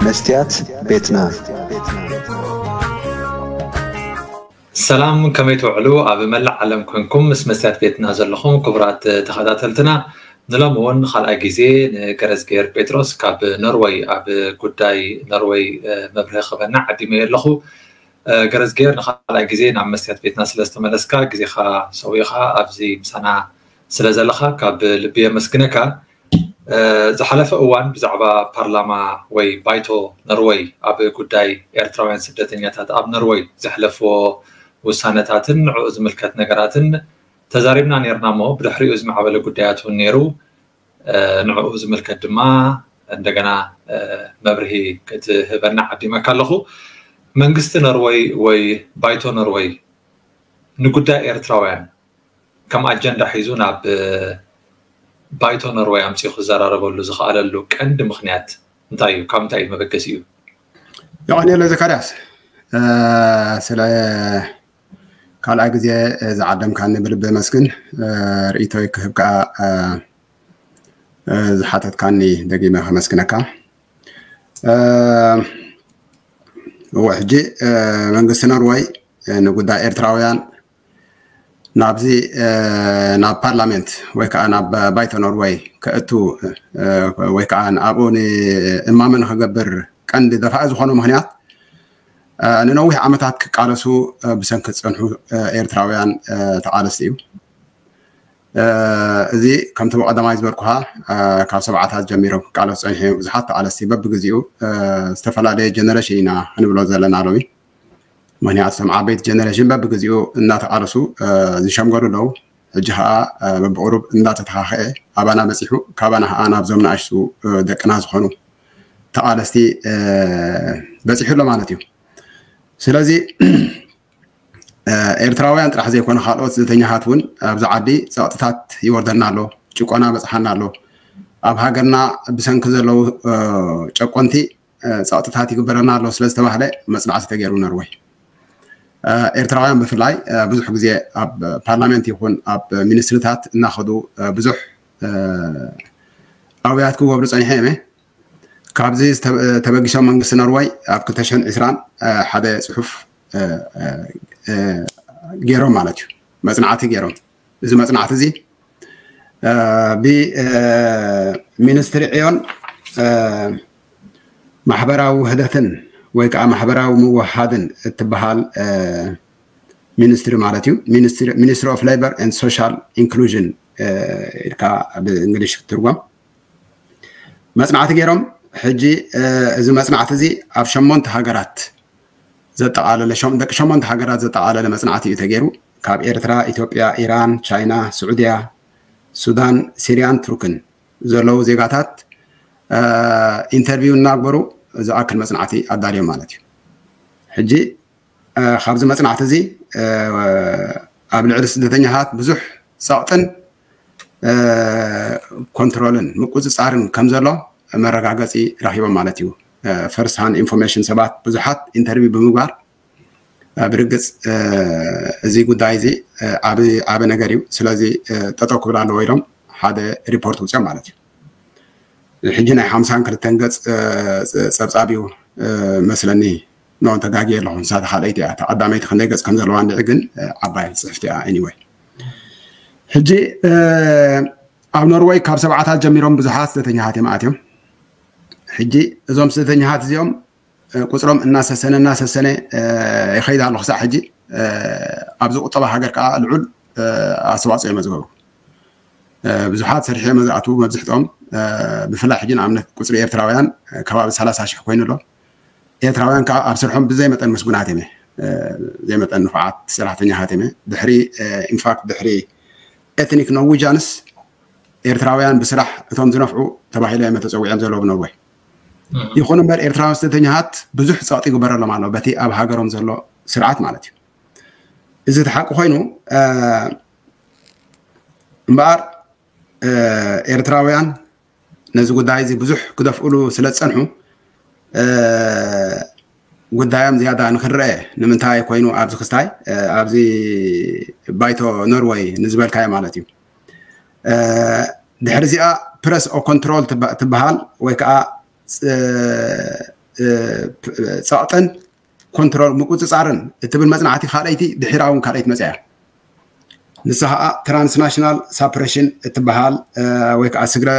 መስትያት ቤትና። ሰላም፣ ከመይ ትውዕሉ? ኣብ መላእ ዓለም ኮንኩም ምስ መስትያት ቤትና ዘለኹም ክቡራት ተኸታተልትና፣ ንሎሚ እውን ካልኣይ ግዜ ንገረዝጌር ጴጥሮስ ካብ ኖርወይ ኣብ ጉዳይ ኖርወይ መብርሂ ክህበና ዓዲመዮ ኣለኹ። ገረዝጌር፣ ንኻልኣይ ግዜ ናብ መስትያት ቤትና ስለ ዝተመለስካ፣ ግዜኻ ሰዊእኻ ኣብዚ ምሳና ስለ ዘለኻ ካብ ልቢ የመስግነካ። ዝሓለፈ እዋን ብዛዕባ ፓርላማ ወይ ባይቶ ኖርወይ ኣብ ጉዳይ ኤርትራውያን ስደተኛታት ኣብ ኖርወይ ዘሕለፍዎ ውሳነታትን ንዕኡ ዝምልከት ነገራትን ተዛሪብና ነርና እሞ፣ ብድሕሪኡ ዝማዕበለ ጉዳያት እውን ነይሩ። ንዕኡ ዝምልከት ድማ እንደገና መብርሂ ክትህበና ዓዲመካ ኣለኹ። መንግስቲ ኖርወይ ወይ ባይቶ ኖርወይ ንጉዳይ ኤርትራውያን ከም ኣጀንዳ ሒዙ ናብ ባይቶ ኖርወይ ኣምጺኡ ክዘራረበሉ ዝኸኣለሉ ቀንዲ ምኽንያት እንታይ እዩ? ካብ ምንታይ እዩ መበገሲኡ? ዮሃንኤለ ዘካርያስ፣ ስለ ካልኣይ ግዜ ዝዓደምካኒ ብልቢ የመስግን። ርእይቶይ ክህብ ከዓ ዝሓተትካኒ ደጊመ ከመስግነካ። እወ፣ ሕጂ መንግስቲ ኖርወይ ንጉዳይ ኤርትራውያን ናብዚ ናብ ፓርላሜንት ወይ ከዓ ናብ ባይቶ ኖርወይ ከእቱ ወይ ከዓ ኣብኡ ንእማመ ንክገብር ቀንዲ ደፋኢ ዝኾነ ምኽንያት ንነዊሕ ዓመታት ክቃለሱ ብሰንኪ ዝፀንሑ ኤርትራውያን ተቓለስቲ እዩ። እዚ ከምቲ ብቐዳማይ ዝበልኩኻ ካብ ሰብዓታት ጀሚሮም ክቃለሱ ፀኒሖም ብዙሓት ተቓለስቲ በብግዜኡ ዝተፈላለየ ጀነሬሽን ኢና ክንብሎ ዘለና ሎሚ። ምክንያቱ እቶም ዓበይቲ ጀነሬሽን በብግዜኡ እናተቓለሱ ዝሸምገሉ ኣለዉ። ሕጂ ከዓ በብቁሩብ እንዳተተኻኸአ ኣባና በፂሑ ካባና ከዓ ናብዞም ንኣሽቱ ደቅና ዝኾኑ ተቓለስቲ በፂሑ ኣሎ ማለት እዩ። ስለዚ ኤርትራውያን ጥራሕ ዘይኮነ ካልኦት ስደተኛታት እውን ኣብዚ ዓዲ ፀቕጥታት ይወርደና ኣሎ፣ ጭቆና በፅሓና ኣሎ፣ ኣብ ሃገርና ብሰንኪ ዘለዉ ጨቆንቲ ፀቕጥታት ይግበረና ኣሎ ስለዝተባህለ መፅናዕቲ ተገይሩ ኖርወይ። ኤርትራውያን ብፍላይ ብዙሕ ግዜ ኣብ ፓርላሜንት ይኹን ኣብ ሚኒስትሪታት እናኸዱ ብዙሕ ኣውያት ክገብሩ ፀኒሖ እየ። ካብዚ ተበጊሶም መንግስቲ ኖርወይ ኣብ ክልተ ሽሕን ዕስራን ሓደ ፅሑፍ ገይሮም ማለት እዩ፣ መፅናዕቲ ገይሮም። እዚ መፅናዕቲ እዚ ብሚኒስትሪ ዕዮን ማሕበራዊ ውህደትን ወይ ከዓ ማሕበራዊ ምውሃድን እትበሃል ሚኒስትሪ ማለት እዩ። ሚኒስትሪ ኦፍ ሌበር ኤንድ ሶሻል ኢንክሉዥን ኢልካ ብእንግሊሽ ክትርጎም መፅናዕቲ ገይሮም። ሕጂ እዚ መፅናዕቲ እዚ ኣብ ሸሞንተ ሃገራት ዘጠቓለለ ደቂ ሸሞንተ ሃገራት ዘጠቓለለ መፅናዕቲ እዩ ተገይሩ። ካብ ኤርትራ፣ ኢትዮጵያ፣ ኢራን፣ ቻይና፣ ስዑድያ፣ ሱዳን፣ ሲርያን ቱርክን ዘለዉ ዜጋታት ኢንተርቪው እናግበሩ ዝኣክል መፅናዕቲ ኣዳልዮም ማለት እዩ። ሕጂ ካብዚ መፅናዕቲ እዚ ኣብ ልዕሊ ስደተኛታት ብዙሕ ፀቕጥን ኮንትሮልን ምቁፅፃርን ከም ዘሎ መረጋገፂ ረኪቦም ማለት እዩ። ፈርስት ሃንድ ኢንፎርሜሽን ሰባት ብዙሓት ኢንተርቪው ብምግባር ብርግፅ እዚ ጉዳይ እዚ ዓቢ ነገር እዩ፣ ስለዚ ጠጠው ክብል ኣለዎ ኢሎም ሓደ ሪፖርት ውፅኦም ማለት እዩ። ሕጂ ናይ ሓምሳን ክልተን ገፅ ፀብፃብ እዩ መስለኒ። ኖ ተጋጊ ኣለኹ፣ ንሳ ተኻልኣይቲ እያ። ተቐዳመይቲ ክንደይ ገፅ ከም ዘለዋ እንድዒ ግን ዓባይ ፅሕፍቲ እያ። ኤኒወይ ሕጂ ኣብ ኖርወይ ካብ ሰብዓታት ጀሚሮም ብዙሓት ስደተኛታት እዮም ኣትዮም። ሕጂ እዞም ስደተኛታት እዚኦም ቁፅሮም እናሰሰነ እናሰሰነ ይኸይድ ኣሎ ክሳዕ ሕጂ። ኣብዚ ቁጠባ ሃገር ከዓ ልዑል ኣስተዋፅኦ እዮም ዝገብሩ። ብዙሓት ሰሪሖም እዮም ዝኣትዉ መብዝሕትኦም። ብፍላይ ሕጂ ንኣብነት ቁፅሪ ኤርትራውያን ከባቢ ሰላሳ ሽሕ ኮይኑ ኣሎ። ኤርትራውያን ከዓ ኣብ ስርሖም ብዘይ መጠን ምስጉናት እዮም፣ ዘይመጠን ንፉዓት ሰራሕተኛታት እዮም። ድሕሪ ኢንፋክት ድሕሪ ኤትኒክ ኖርዊጃንስ ኤርትራውያን ብስራሕ እቶም ዝነፍዑ ተባሂሎም እዮም ተፀዊዖም ዘለዉ ብኖርወይ። ይኹን እምበር ኤርትራውያን ስደተኛታት ብዙሕ ፀቕጢ ይግበረሎም ኣሎ በቲ ኣብ ሃገሮም ዘሎ ስርዓት ማለት እዩ። እዚ እቲ ሓቂ ኮይኑ እምበኣር ኤርትራውያን ነዚ ጉዳይ እዚ ብዙሕ ክደፍእሉ ስለ ዝፀንሑ ጉዳዮም ዝያዳ ንክረአ ንምንታይ ኮይኑ ኣብዚ ክስታይ ኣብዚ ባይቶ ኖርወይ ንዝበልካዮ ማለት እዩ። ድሕሪ እዚኣ ፕረስ ኦፍ ኮንትሮል ትበሃል ወይ ከዓ ጸቕጥን ኮንትሮል ምቁፅፃርን እትብል መፅናዕቲ ካልኣይቲ ድሒራ እውን ካልኣይቲ መፅያ። ንሳ ከዓ ትራንስናሽናል ሳፕሬሽን እትበሃል ወይ ከዓ ስግረ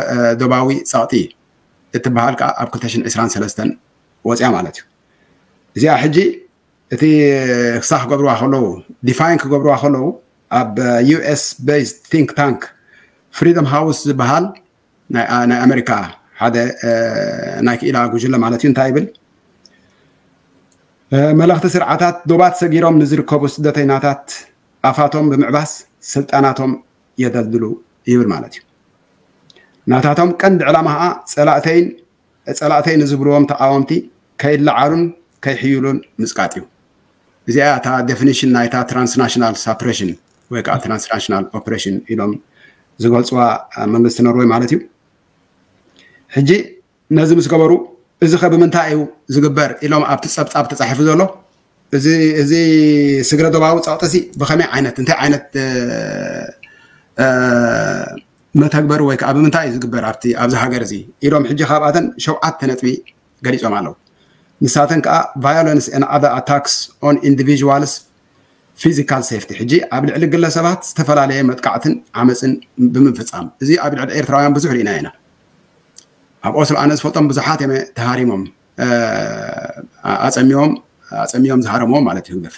ዶባዊ ፀቕጢ እትበሃል ከዓ ኣብ ክልተ ሽሕን ዕስራን ሰለስተን ወፅያ ማለት እዩ። እዚኣ ሕጂ እቲ ክሳ ክገብርዋ ከለዉ ዲፋይን ክገብርዋ ከለዉ ኣብ ዩኤስ ቤዝድ ቲንክ ታንክ ፍሪደም ሃውስ ዝበሃል ናይ ኣሜሪካ ሓደ ናይ ክኢላ ጉጅለ ማለት እዩ እንታይ ይብል? መለኽቲ ስርዓታት ዶባት ሰጊሮም ንዝርከቡ ስደተይናታት ኣፋቶም ብምዕባስ ስልጣናቶም የደልድሉ ይብል ማለት እዩ። ናታቶም ቀንዲ ዕላማ ከዓ ፀላእተይን ፀላእተይ ንዝብልዎም ተቃወምቲ ከይለዓሉን ከይሕይሉን ምፅቃጥ እዩ። እዚኣ እታ ዴፊኒሽን ናይታ ትራንስናሽናል ሳፕሬሽን ወይ ከዓ ትራንስናሽናል ኦፕሬሽን ኢሎም ዝገልፅዋ መንግስቲ ኖርወይ ማለት እዩ። ሕጂ ነዚ ምስ ገበሩ እዚ ከ ብምንታይ እዩ ዝግበር ኢሎም ኣብቲ ፀብፃብ ተፃሒፉ ዘሎ እዚ ስግረ ዶባዊ ፀቕጢ ሲ ብኸመይ ዓይነት እንታይ ዓይነት መተግበሪ ወይ ከዓ ብምንታይ እዩ ዝግበር ኣብቲ ኣብዚ ሃገር እዚ ኢሎም ሕጂ ካብኣተን ሸውዓተ ነጥቢ ገሊፆም ኣለዉ። ንሳተን ከዓ violence and other attacks on individuals physical safety ሕጂ ኣብ ልዕሊ ግለሰባት ዝተፈላለየ መጥቃዕትን ዓመፅን ብምፍፃም እዚ ኣብ ልዕሊ ኤርትራውያን ብዙሕ ርኢና ኢና። ኣብ ኦስሎ ኣነ ዝፈልጦም ብዙሓት እዮም ተሃሪሞም ኣፀሚዮም ኣፀሚዮም ዝሃረምዎም ማለት እዩ ህግደፍ።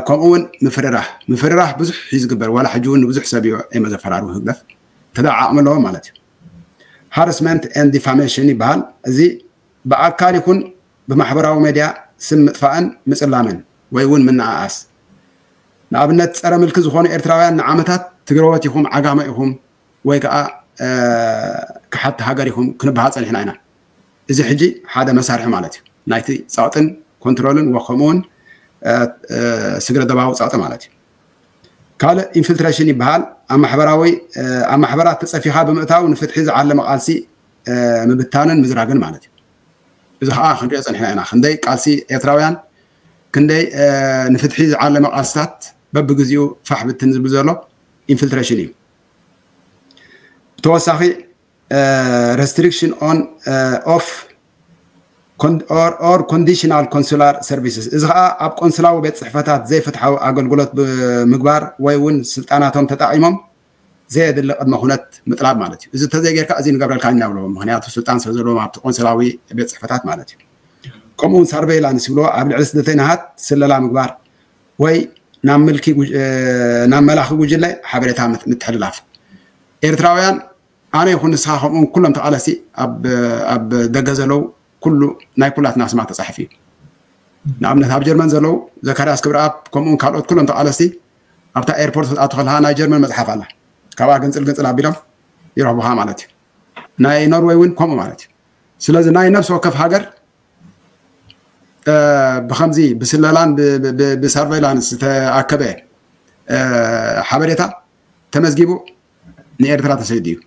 ከምኡ እውን ምፍርራህ ምፍርራህ ብዙሕ እዩ ዝግበር ዋላ ሕጂ እውን ንብዙሕ ሰብ እዩ የመዘፈራሩ ህግደፍ ተደዓቕሚ ኣለዎ ማለት እዩ። ሃረስመንት ኤንድ ዲፋሜሽን ይበሃል። እዚ ብኣካል ይኹን ብማሕበራዊ ሜድያ ስም ምጥፋእን ምፅላምን ወይ እውን ምንኣኣስ ንኣብነት ፀረ ምልኪ ዝኾኑ ኤርትራውያን ንዓመታት ትግረወት ኢኹም ዓጋመ ኢኹም ወይ ከዓ ክሓቲ ሃገር ኢኹም ክንበሃል ፀኒሕና ኢና። እዚ ሕጂ ሓደ መሳርሒ ማለት እዩ ናይቲ ፀቕጥን ኮንትሮልን ወከምኡ እውን ስግረ ደባዊ ፀቕጢ ማለት እዩ። ካልእ ኢንፊልትሬሽን ይበሃል። ኣብ ማሕበራዊ ኣብ ማሕበራት ተፀፊኻ ብምእታው ንፍትሒ ዝዓለመ ቃልሲ ምብታንን ምዝራግን ማለት እዩ። እዚ ከዓ ክንሪኦ ፀኒሕና ኢና ክንደይ ቃልሲ ኤርትራውያን ክንደይ ንፍትሒ ዝዓለመ ቃልስታት በብግዚኡ ፋሕ ብትን ዝብል ዘሎ ኢንፊልትሬሽን እዩ። ብተወሳኺ restriction on of or conditional consular services እዚ ከዓ ኣብ ቆንስላዊ ቤት ፅሕፈታት ዘይፍትሓዊ ኣገልግሎት ብምግባር ወይ እውን ስልጣናቶም ተጠቒሞም ዘየድሊ ቅድመ ኩነት ምጥላብ ማለት እዩ። እዚ እንተዘይጌርካ እዚ ንገብረልካ ኢና ብሎ ምክንያቱ ስልጣን ስለ ዘለዎም ኣብቲ ቆንስላዊ ቤት ፅሕፈታት ማለት እዩ። ከምኡውን ሳርቬይላንስ ይብልዎ ኣብ ልዕሊ ስደተይናሃት ስለላ ምግባር ወይ ናብ ምልኪ ናብ መላኺ ጉጅለ ሓበሬታ ምትሕልላፍ ኤርትራውያን ኣነ ይኹን ንስኻ ከምኡውን ኩሎም ተቓለስቲ ኣብ ደገ ዘለዉ ኩሉ ናይ ኩላትና ስማ ተፃሒፉ እዩ። ንኣብነት ኣብ ጀርመን ዘለዉ ዘካርያስ ክብረኣብ ከምኡውን ካልኦት ኩሎም ተቓለስቲ ኣብታ ኤርፖርት ክትኣቱ ከለካ ናይ ጀርመን መፅሓፍ ኣላ ካብኣ ግንፅል ግንፅል ኣቢሎም ይረኽቡካ ማለት እዩ። ናይ ኖርወይ እውን ከምኡ ማለት እዩ። ስለዚ ናይ ነብሲ ወከፍ ሃገር ብከምዚ ብስለላን ብሳርቬይላንስ ዝተኣከበ ሓበሬታ ተመዝጊቡ ንኤርትራ ተሰይዱ እዩ።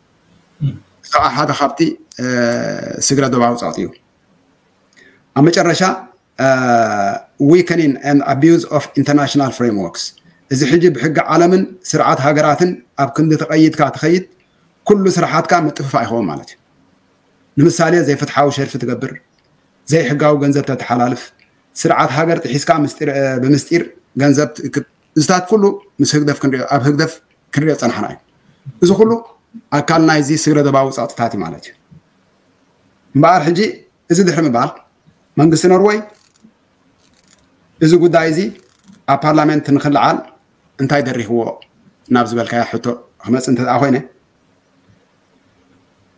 እዚ ከዓ ሓደ ካብቲ ስግረ ዶባዊ ፀቕጢ እዩ። ኣብ መጨረሻ weakening and abuse of international frameworks እዚ ሕጂ ብሕጊ ዓለምን ስርዓት ሃገራትን ኣብ ክንዲ ተቐይድካ ትኸይድ ኩሉ ስራሓትካ ምጥፍፋእ ይኸውን ማለት እዩ። ንምሳሌ ዘይፍትሓዊ ሸርፊ ትገብር፣ ዘይሕጋዊ ገንዘብ ተተሓላልፍ፣ ስርዓት ሃገር ጥሒስካ ብምስጢር ገንዘብ ትእክብ፣ እዚታት ኩሉ ምስ ህግደፍ ክንሪኦ ኣብ ህግደፍ ክንሪኦ ዝፀናሕና እዩ። እዚ ኩሉ ኣካል ናይዚ ስግረ ደባዊ ፀቕጥታት እዩ ማለት እዩ። እምበኣር ሕጂ እዚ ድሕሪ ምባል መንግስቲ ኖርወይ እዚ ጉዳይ እዚ ኣብ ፓርላሜንት ንክልዓል እንታይ ደሪኽዎ ናብ ዝበልካያ ሕቶ ክመፅእ እንተ ኮይነ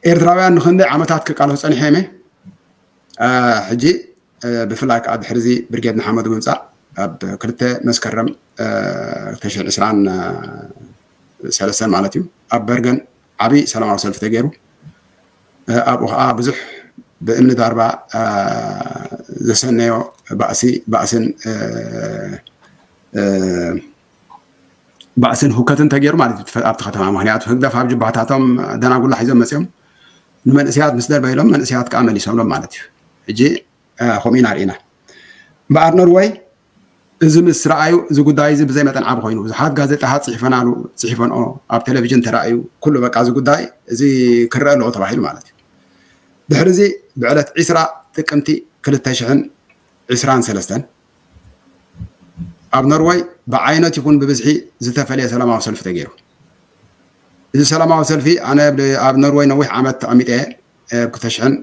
ኤርትራውያን ንክንደይ ዓመታት ክቃለሱ ፀኒሖም እየ። ሕጂ ብፍላይ ከዓ ድሕሪ እዚ ብርጌድ ንሓመዱ ምምፃእ ኣብ ክልተ መስከረም ክልተ ሽሕን ዕስራን ሰለስተን ማለት እዩ ኣብ በርገን ዓብዪ ሰላማዊ ሰልፊ ተገይሩ ኣብኡ ከዓ ብዙሕ ብእምኒ ዳርባ ዘሰነዮ ባእሲ ባእስን ባእስን ሁከትን ተገይሩ ማለት እዩ ኣብቲ ከተማ። ምክንያቱ ህግደፍ ኣብ ጅባታቶም ደናጉላ ሒዞም መፅኦም ንመንእስያት ምስ ደርበይሎም መንእስያት ከዓ መሊሶምሎም ማለት እዩ። ሕጂ ከምኡ ኢና ርኢና። እምበኣር ኖርወይ እዚ ምስ ረኣዩ እዚ ጉዳይ እዚ ብዘይ መጠን ዓቢ ኮይኑ ብዙሓት ጋዜጣታት ፅሒፈናሉ ፅሒፈንኦ ኣብ ቴሌቪዥን ተራእዩ ኩሉ በቃ እዚ ጉዳይ እዚ ክረአ ኣለዎ ተባሂሉ ማለት እዩ። ድሕሪ እዚ ብዕለት ዒስራ ጥቅምቲ ክልተ ሽሕን ዕስራን ሰለስተን ኣብ ኖርወይ ብዓይነት ይኹን ብብዝሒ ዝተፈለየ ሰላማዊ ሰልፊ ተገይሩ። እዚ ሰላማዊ ሰልፊ ኣነ ኣብ ኖርወይ ነዊሕ ዓመት ተቐሚጠ እየ። ተሽዕን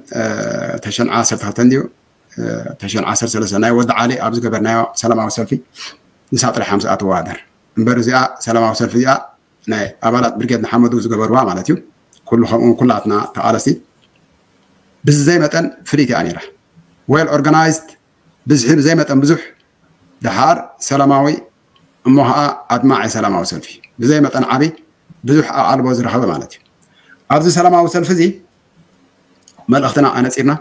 ተሽዕን ዓሰርተ ክልተ እንድዩ ተሽዕን ዓሰርተ ሰለስተ ናይ ወዲ ዓሊ ኣብ ዝገበርናዮ ሰላማዊ ሰልፊ ንሳ ጥራሕ እያ ምስኣ ትወዳደር እምበር እዚኣ ሰላማዊ ሰልፊ እዚኣ ናይ ኣባላት ብርጌድ ንሓመዱ ዝገበርዋ ማለት እዩ። ኩሉ ከምኡ ኩላትና ተቓለስቲ ብዝዘይ መጠን ፍልይቲ እያ ነይራ። ዌል ኦርጋናይዝድ ብዝሒ ብዘይ መጠን ብዙሕ ደሓር ሰላማዊ እሞ ኸዓ ኣድማዒ ሰላማዊ ሰልፊ ብዘይ መጠን ዓቢ ብዙሕ ኣቓልቦ ዝረኸበ ማለት እዩ። ኣብዚ ሰላማዊ ሰልፊ እዚ መልእኽትና ኣነጺርና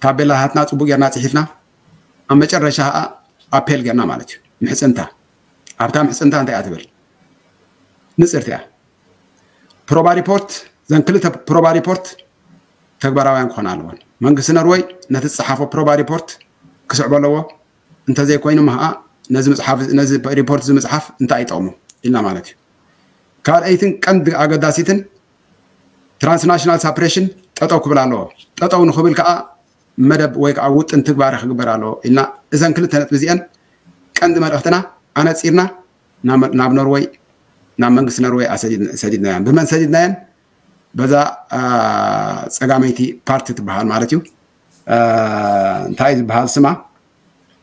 ታቤላታትና ጽቡቅ ጌርና ጽሒፍና ኣብ መጨረሻ ኸዓ ኣፔል ጌርና ማለት እዩ። ምሕጽንታ ኣብታ ምሕጽንታ እንታይ እያ ትብል? ንጽርቲ እያ። ፕሮባ ሪፖርት ዘን ክልተ ፕሮባ ሪፖርት ተግባራውያን ክኾና ኣለወን። መንግስቲ ኖርወይ ነቲ ዝጸሓፎ ፕሮባ ሪፖርት ክስዕቦ ኣለዎ። እንተዘይኮይኑ ኸዓ ነዚ መጽሓፍ ነዚ ሪፖርት እዚ ምጽሓፍ እንታይ ይጠቕሙ ኢልና ማለት እዩ። ካልኣይትን ቀንዲ ኣገዳሲትን ትራንስናሽናል ሳፕሬሽን ጠጠው ክብል ኣለዎ። ጠጠው ንኽብል ከዓ መደብ ወይ ከዓ ውጥን ትግባረ ክግበር ኣለዎ ኢልና እዘን ክልተ ነጥቢ እዚአን ቀንዲ መልእኽትና ኣነፂርና ናብ ኖርወይ ናብ መንግስቲ ኖርወይ ሰዲድናያን። ብመን ሰዲድናያን? በዛ ፀጋመይቲ ፓርቲ ትበሃል ማለት እዩ። እንታይ ዝበሃል ስማ?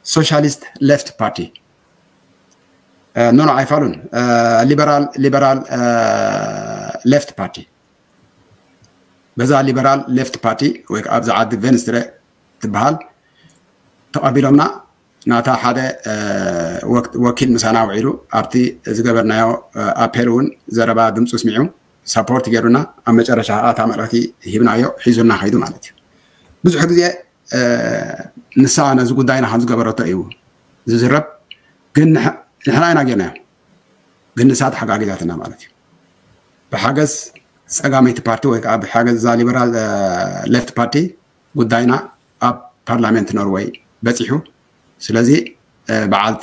ሶሻሊስት ሌፍት ፓርቲ። ኖ ኖ ኣይፋሉን። ሊበራል ሊበራል ሌፍት ፓርቲ። በዛ ሊበራል ሌፍት ፓርቲ ወይ ከዓ ኣብዚ ዓዲ ቬንስትረ ትበሃል ተቐቢሎምና ናታ ሓደ ወኪል ምሳና ውዒሉ ኣብቲ ዝገበርናዮ ኣፔል እውን ዘረባ ድምፁ ስሚዑ ሳፖርት ገይሩና ኣብ መጨረሻ ከዓ እታ መልእኽቲ ሂብናዮ ሒዙና ከይዱ ማለት እዩ። ብዙሕ ግዜ ንሳ ነዚ ጉዳይና ከም ዝገበረቶ እዩ ዝዝረብ። ግን ንሕና ኢና ጌርናዮ። ግን ንሳ ተሓጋጊዛትና ማለት እዩ። ብሓገዝ ፀጋመይቲ ፓርቲ ወይ ከዓ ብሓገዝ እዛ ሊበራል ሌፍት ፓርቲ ጉዳይና ኣብ ፓርላሜንት ኖርወይ በፂሑ። ስለዚ በዓልቲ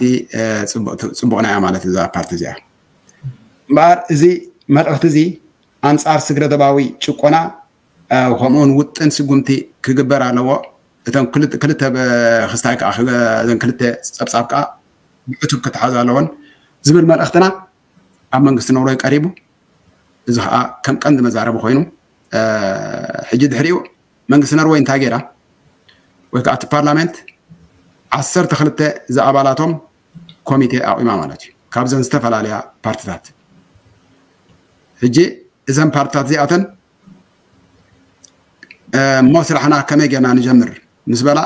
ፅቡቕና እያ ማለት እዛ ፓርቲ እዚኣ። እምበኣር እዚ መልእኽቲ እዚ ኣንፃር ስግረ ዶባዊ ጭቆና ከምኡውን ውጥን ስጉምቲ ክግበር ኣለዎ። እተን ክልተ ክስታይ ከዓ እዘን ክልተ ፀብፃብ ከዓ ብዕቱብ ክተሓዛ ኣለዎን ዝብል መልእኽትና ኣብ መንግስቲ ኖርወይ ቀሪቡ። እዚ ከዓ ከም ቀንዲ መዛረቢ ኮይኑ ሕጂ ድሕሪኡ መንግስቲ ኖርወይ እንታይ ገይራ ወይ ከዓ እቲ ፓርላሜንት ዓሰርተ ክልተ ዝኣባላቶም ኮሚቴ ኣቑማ ማለት እዩ። ካብዘን ዝተፈላለያ ፓርቲታት ሕጂ እዘን ፓርቲታት እዚኣተን እሞ ስራሕና ከመይ ጌርና ንጀምር ምስ በላ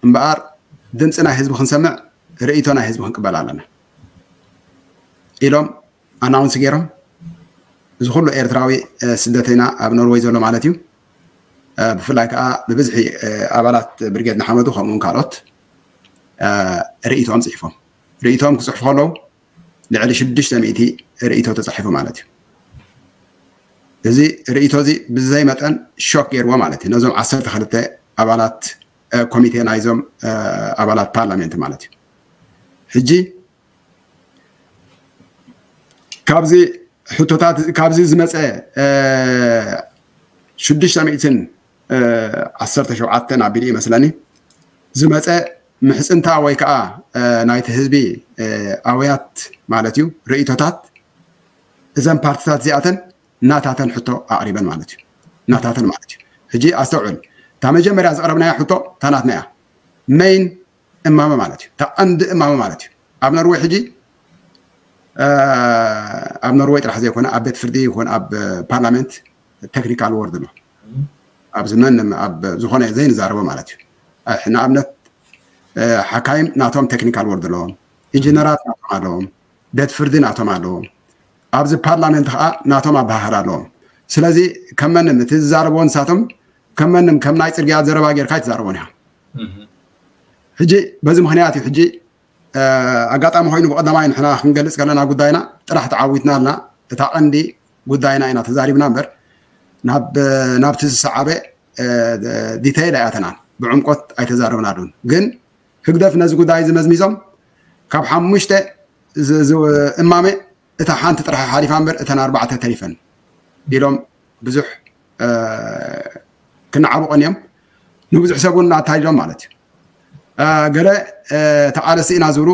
እምበኣር ድምፂ ናይ ህዝቢ ክንሰምዕ ርእይቶ ናይ ህዝቢ ክንቅበል ኣለና ኢሎም ኣናውንስ ገይሮም። እዚ ኩሉ ኤርትራዊ ስደተይና ኣብ ኖርወይ ዘሎ ማለት እዩ። ብፍላይ ከዓ ብብዝሒ ኣባላት ብርጌድ ንሓመዱ ከምኡውን ካልኦት ርእይቶኦም ፅሒፎም። ርእይቶኦም ክፅሕፉ ከለዉ ልዕሊ ሽዱሽተ ሚእቲ ርእይቶ ተፃሒፉ ማለት እዩ። እዚ ርእይቶ እዚ ብዘይ መጠን ሾክ ገይርዎ ማለት እዩ ነዞም ዓሰርተ ክልተ ኣባላት ኮሚቴ ናይዞም ኣባላት ፓርላሜንት ማለት እዩ። ሕጂ ካብዚ ሕቶታት ካብዚ ዝመፀ ሽዱሽተ ሚእትን ዓሰርተ ሸውዓተን ኣቢሉ ይመስለኒ ዝመፀ ምሕፅንታ ወይ ከዓ ናይቲ ህዝቢ ኣውያት ማለት እዩ ርእይቶታት እዘን ፓርቲታት እዚኣተን ናታተን ሕቶ ኣቕሪበን ማለት እዩ። ናታተን ማለት እዩ። ሕጂ ኣስተውዕል፣ እታ መጀመርያ ዘቕረብናያ ሕቶ እታ ናትና እያ። መይን እማመ ማለት እዩ። እታ ቀንዲ እማመ ማለት እዩ። ኣብ ኖርወይ ሕጂ ኣብ ኖርወይ ጥራሕ ዘይኮነ ኣብ ቤት ፍርዲ ይኹን ኣብ ፓርላሜንት ቴክኒካል ወርድ ኣሎ። ኣብዚ መን ኣብ ዝኾነ ዘይንዛረቦ ማለት እዩ። ንኣብነት ሓካይም ናቶም ቴክኒካል ወርድ ኣለዎም፣ ኢንጂነራት ናቶም ኣለዎም፣ ቤት ፍርዲ ናቶም ኣለዎም። ኣብዚ ፓርላሜንት ከዓ ናቶም ኣበሃህላ ኣለዎም። ስለዚ ከም መንም እቲ ዝዛረብዎ ንሳቶም ከም መንም ከም ናይ ፅርግያ ዘረባ ጌርካ ኣይትዛረቦን ኢኻ። ሕጂ በዚ ምክንያት እዩ ሕጂ ኣጋጣሚ ኮይኑ ብቀዳማይ ንሕና ክንገልፅ ከለና ጉዳይና ጥራሕ ተዓዊትና ኣልና። እታ ቀንዲ ጉዳይና ኢና ተዛሪብና እምበር ናብቲ ዝሰዓበ ዲተይል ኣይኣተናን፣ ብዕምቆት ኣይተዛረብናሉን። ግን ህግደፍ ነዚ ጉዳይ እዚ መዝሚዞም ካብ ሓሙሽተ እማመ እታ ሓንቲ ጥራሕ ሓሊፋ እምበር እተን ኣርባዕተ ተሪፈን ኢሎም ብዙሕ ክነዓቡ ቀንዮም። ንብዙሕ ሰብ እውን ኣታሊሎም ማለት እዩ። ገለ ተቓለስቲ ኢና ዝብሉ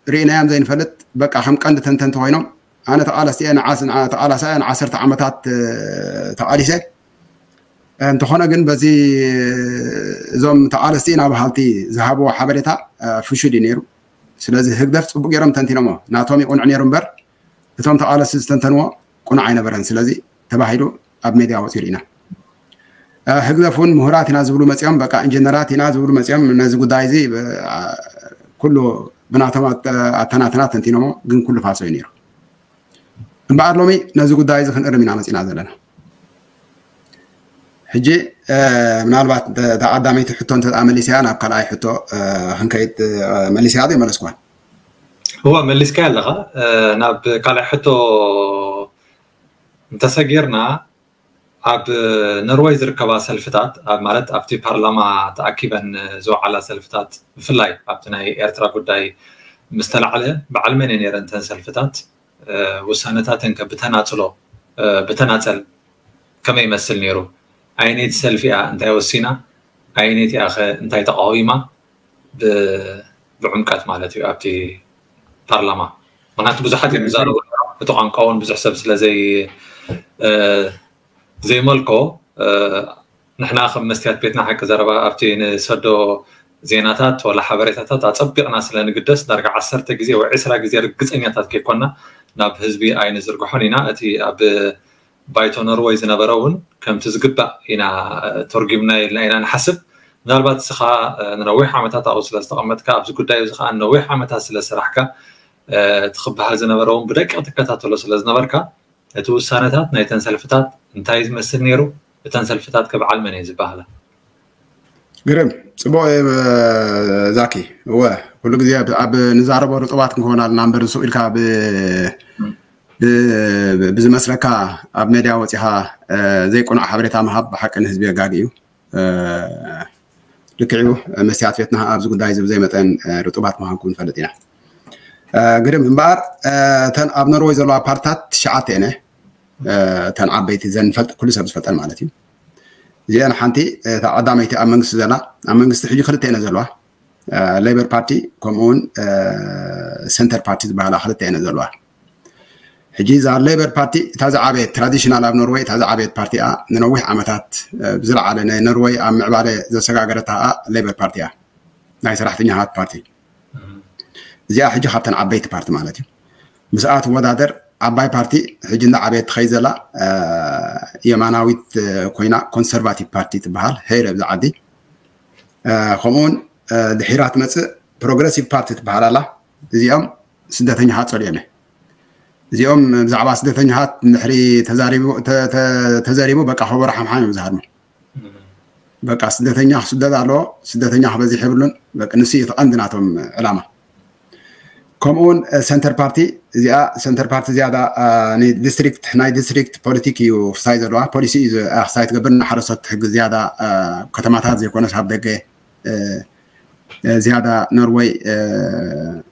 ርኢናዮም ዘይንፈልጥ፣ በቃ ከም ቀንዲ ተንተንቲ ኮይኖም፣ ኣነ ተቓለስቲ እየ፣ ንዓስ- ንዓ- ተቓላሳይ እየ፣ ንዓሰርተ ዓመታት ተቓሊሰ። እንተኾነ ግን በዚ እዞም ተቓለስቲ ኢና በሃልቲ ዝሃብዎ ሓበሬታ ፍሹል እዩ ነይሩ። ስለዚ ህግደፍ ፅቡቅ ገይሮም ተንቲኖሞ፣ ናቶም ይቁንዕ ነይሩ እምበር እቶም ተቓለስቲ ዝተንተንዎ ቁኑዕ ኣይነበረን። ስለዚ ተባሂሉ ኣብ ሜድያ ወፂኡ ርኢና። ህግደፍ እውን ምሁራት ኢና ዝብሉ መፂኦም፣ በቃ ኢንጀነራት ኢና ዝብሉ መፂኦም፣ ነዚ ጉዳይ እዚ ኩሉ ብናቶም ኣተናትና ተንቲኖሞ፣ ግን ኩሉ ፋሶ እዩ ነይሩ። እምበኣር ሎሚ ነዚ ጉዳይ እዚ ክንእርም ኢና መፂና ዘለና። ሕጂ ምናልባት ተቐዳመይቲ ሕቶ እንተ መሊስያ ናብ ካልኣይ ሕቶ ክንከይድ፣ መሊስያ ዶ ይመለስኳን? እወ፣ መሊስካ ኣለኻ። ናብ ካልኣይ ሕቶ እንተሰጊርና፣ ኣብ ኖርወይ ዝርከባ ሰልፍታት፣ ማለት ኣብቲ ፓርላማ ተኣኪበን ዝወዓላ ሰልፍታት፣ ብፍላይ ኣብቲ ናይ ኤርትራ ጉዳይ ምስ ተላዕለ፣ በዓል መን ነይረን እተን ሰልፍታት? ውሳነታተን ከ ብተናጽሎ፣ ብተናጸል ከመይ ይመስል ነይሩ? ኣየነይቲ ሰልፊ እያ እንታይ ወሲና? ኣየነይቲ እያ ከ እንታይ ተቃዊማ? ብዕምቀት ማለት እዩ ኣብቲ ፓርላማ። ምክንያቱ ብዙሓት እዮም ዝዛረቡ፣ እቲ ቋንቋ እውን ብዙሕ ሰብ ስለ ዘይመልኮ፣ ንሕና ከም መስትያት ቤትና ሓቂ ዘረባ ኣብቲ ንሰዶ ዜናታት ወላ ሓበሬታታት ኣፀቢቕና ስለ ንግደስ፣ ዳርጋ ዓሰርተ ግዜ ወይ ዕስራ ግዜ ርግፀኛታት ከይኮና ናብ ህዝቢ ኣይንዝርግሖን ኢና። እቲ ኣብ ባይቶ ኖርወይ ዝነበረ እውን ከምቲ ዝግባእ ኢና ተርጉምና ኢልና ኢና ንሓስብ። ምናልባት እስኻ ንነዊሕ ዓመታት ኣብኡ ስለ ዝተቐመጥካ፣ ኣብዚ ጉዳይ እዚ ከዓ ነዊሕ ዓመታት ስለ ዝሰራሕካ፣ እቲ ክበሃል ዝነበረ እውን ብደቂቕ ትከታተሎ ስለ ዝነበርካ፣ እቲ ውሳነታት ናይተን ሰልፍታት እንታይ ዝመስል ነይሩ? እተን ሰልፍታት ከ በዓል መን እየን ዝበሃላ? ግርም፣ ፅቡቕ እዩ ዛኪ። እወ፣ ኩሉ ግዜ ኣብ ንዛረቦ ርጡባት ክንከውን ኣለና እምበር፣ ንሱቕ ኢልካ ብዝመስለካ ኣብ ሜድያ ወፂኻ ዘይቁኑዕ ሓበሬታ ምሃብ ብሓቂ ንህዝቢ የጋጊ እዩ። ልክዕ እዩ፣ መስትያት ቤትና ኣብዚ ጉዳይ እዚ ብዘይ መጠን ርጡባት ምዃንኩም ንፈልጥ ኢና። ግርም እምበኣር፣ እተን ኣብ ኖርወይ ዘለዋ ፓርትታት ትሽዓተ እየን፣ እተን ዓበይቲ ዘን ንፈልጥ፣ ኩሉ ሰብ ዝፈልጠን ማለት እዩ። እዚአን ሓንቲ፣ እታ ቀዳመይቲ ኣብ መንግስቲ ዘላ፣ ኣብ መንግስቲ ሕጂ ክልተ እየን ዘለዋ፣ ሌበር ፓርቲ ከምኡ እውን ሰንተር ፓርቲ ዝበሃላ ክልተ እየን ዘለዋ። ሕጂ እዛ ሌበር ፓርቲ እታ ዝዓበየት፣ ትራዲሽናል ኣብ ኖርወይ እታ ዝዓበየት ፓርቲ እያ፣ ንነዊሕ ዓመታት ብዝለዓለ ንኖርወይ ኣብ ምዕባለ ዘሰጋገረታ ሌበር ፓርቲ እያ፣ ናይ ሰራሕተኛታት ፓርቲ። እዚኣ ሕጂ ካብተን ዓበይቲ ፓርቲ ማለት እዩ። ምስኣ ትወዳደር ዓባይ ፓርቲ ሕጂ እንዳዓበየት ትኸይድ ዘላ የማናዊት ኮይና ኮንሰርቫቲቭ ፓርቲ ትበሃል፣ ሄር ኣብዚ ዓዲ። ከምኡውን ድሒራ ትመፅእ ፕሮግረሲቭ ፓርቲ ትበሃል ኣላ። እዚኦም ስደተኛታት ፀሊኦም እዮም። እዚኦም ብዛዕባ ስደተኛታት ድሕሪ ተዛሪቡ በቃ ከበሮ ሓምሓም እዮም ዝሃርሙ። በቃ ስደተኛ ክስደድ ኣለዎ፣ ስደተኛ ክበዝሕ የብሉን። በቃ ንሱ እዩ እቲ ቀንዲ ናቶም ዕላማ። ከምኡውን ሰንተር ፓርቲ፣ እዚኣ ሰንተር ፓርቲ ዝያዳ ንዲስትሪክት፣ ናይ ዲስትሪክት ፖሊቲክ እዩ ክሳይ ዘለዋ፣ ፖሊሲ እዩ ክሳይ ትገብር፣ ንሓረስቶት ትሕግዝ ዝያዳ፣ ከተማታት ዘይኮነስ ኣብ ደገ ዝያዳ ኖርወይ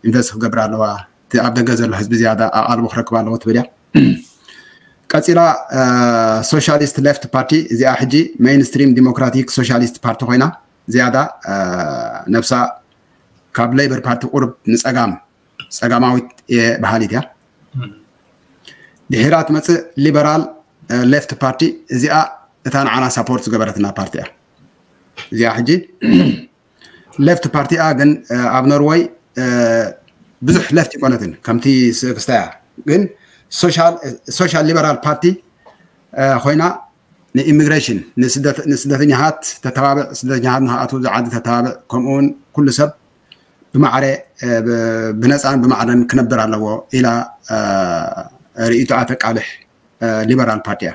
ኢንቨስት ክገብር ኣለዋ፣ እቲ ኣብ ደገ ዘሎ ህዝቢ ዝያዳ ኣቓልቦ ክረክብ ኣለዎ ትብል እያ። ቀፂላ ሶሻሊስት ሌፍት ፓርቲ፣ እዚኣ ሕጂ ሜይንስትሪም ዲሞክራቲክ ሶሻሊስት ፓርቲ ኮይና፣ ዝያዳ ነብሳ ካብ ሌበር ፓርቲ ቁርብ ንፀጋም፣ ፀጋማዊት እየ በሃሊት እያ። ድሒራ ትመፅእ ሊበራል ሌፍት ፓርቲ፣ እዚኣ እታ ንዓና ሳፖርት ዝገበረትና ፓርቲ እያ። እዚኣ ሕጂ ሌፍት ፓርቲ እያ፣ ግን ኣብ ኖርወይ ብዙሕ ሌፍት ይኮነትን፣ ከምቲ ክስታይ እያ። ግን ሶሻል ሊበራል ፓርቲ ኮይና ንኢሚግሬሽን፣ ንስደተኛታት ተተባብዕ፣ ስደተኛታት ንክኣትዉ ዝዓዲ ተተባብዕ፣ ከምኡውን ኩሉ ሰብ ብማዕረ ብነፃን ብማዕረን ክነብር ኣለዎ ኢላ ርእይቶኣ ተቃልሕ ሊበራል ፓርቲ እያ።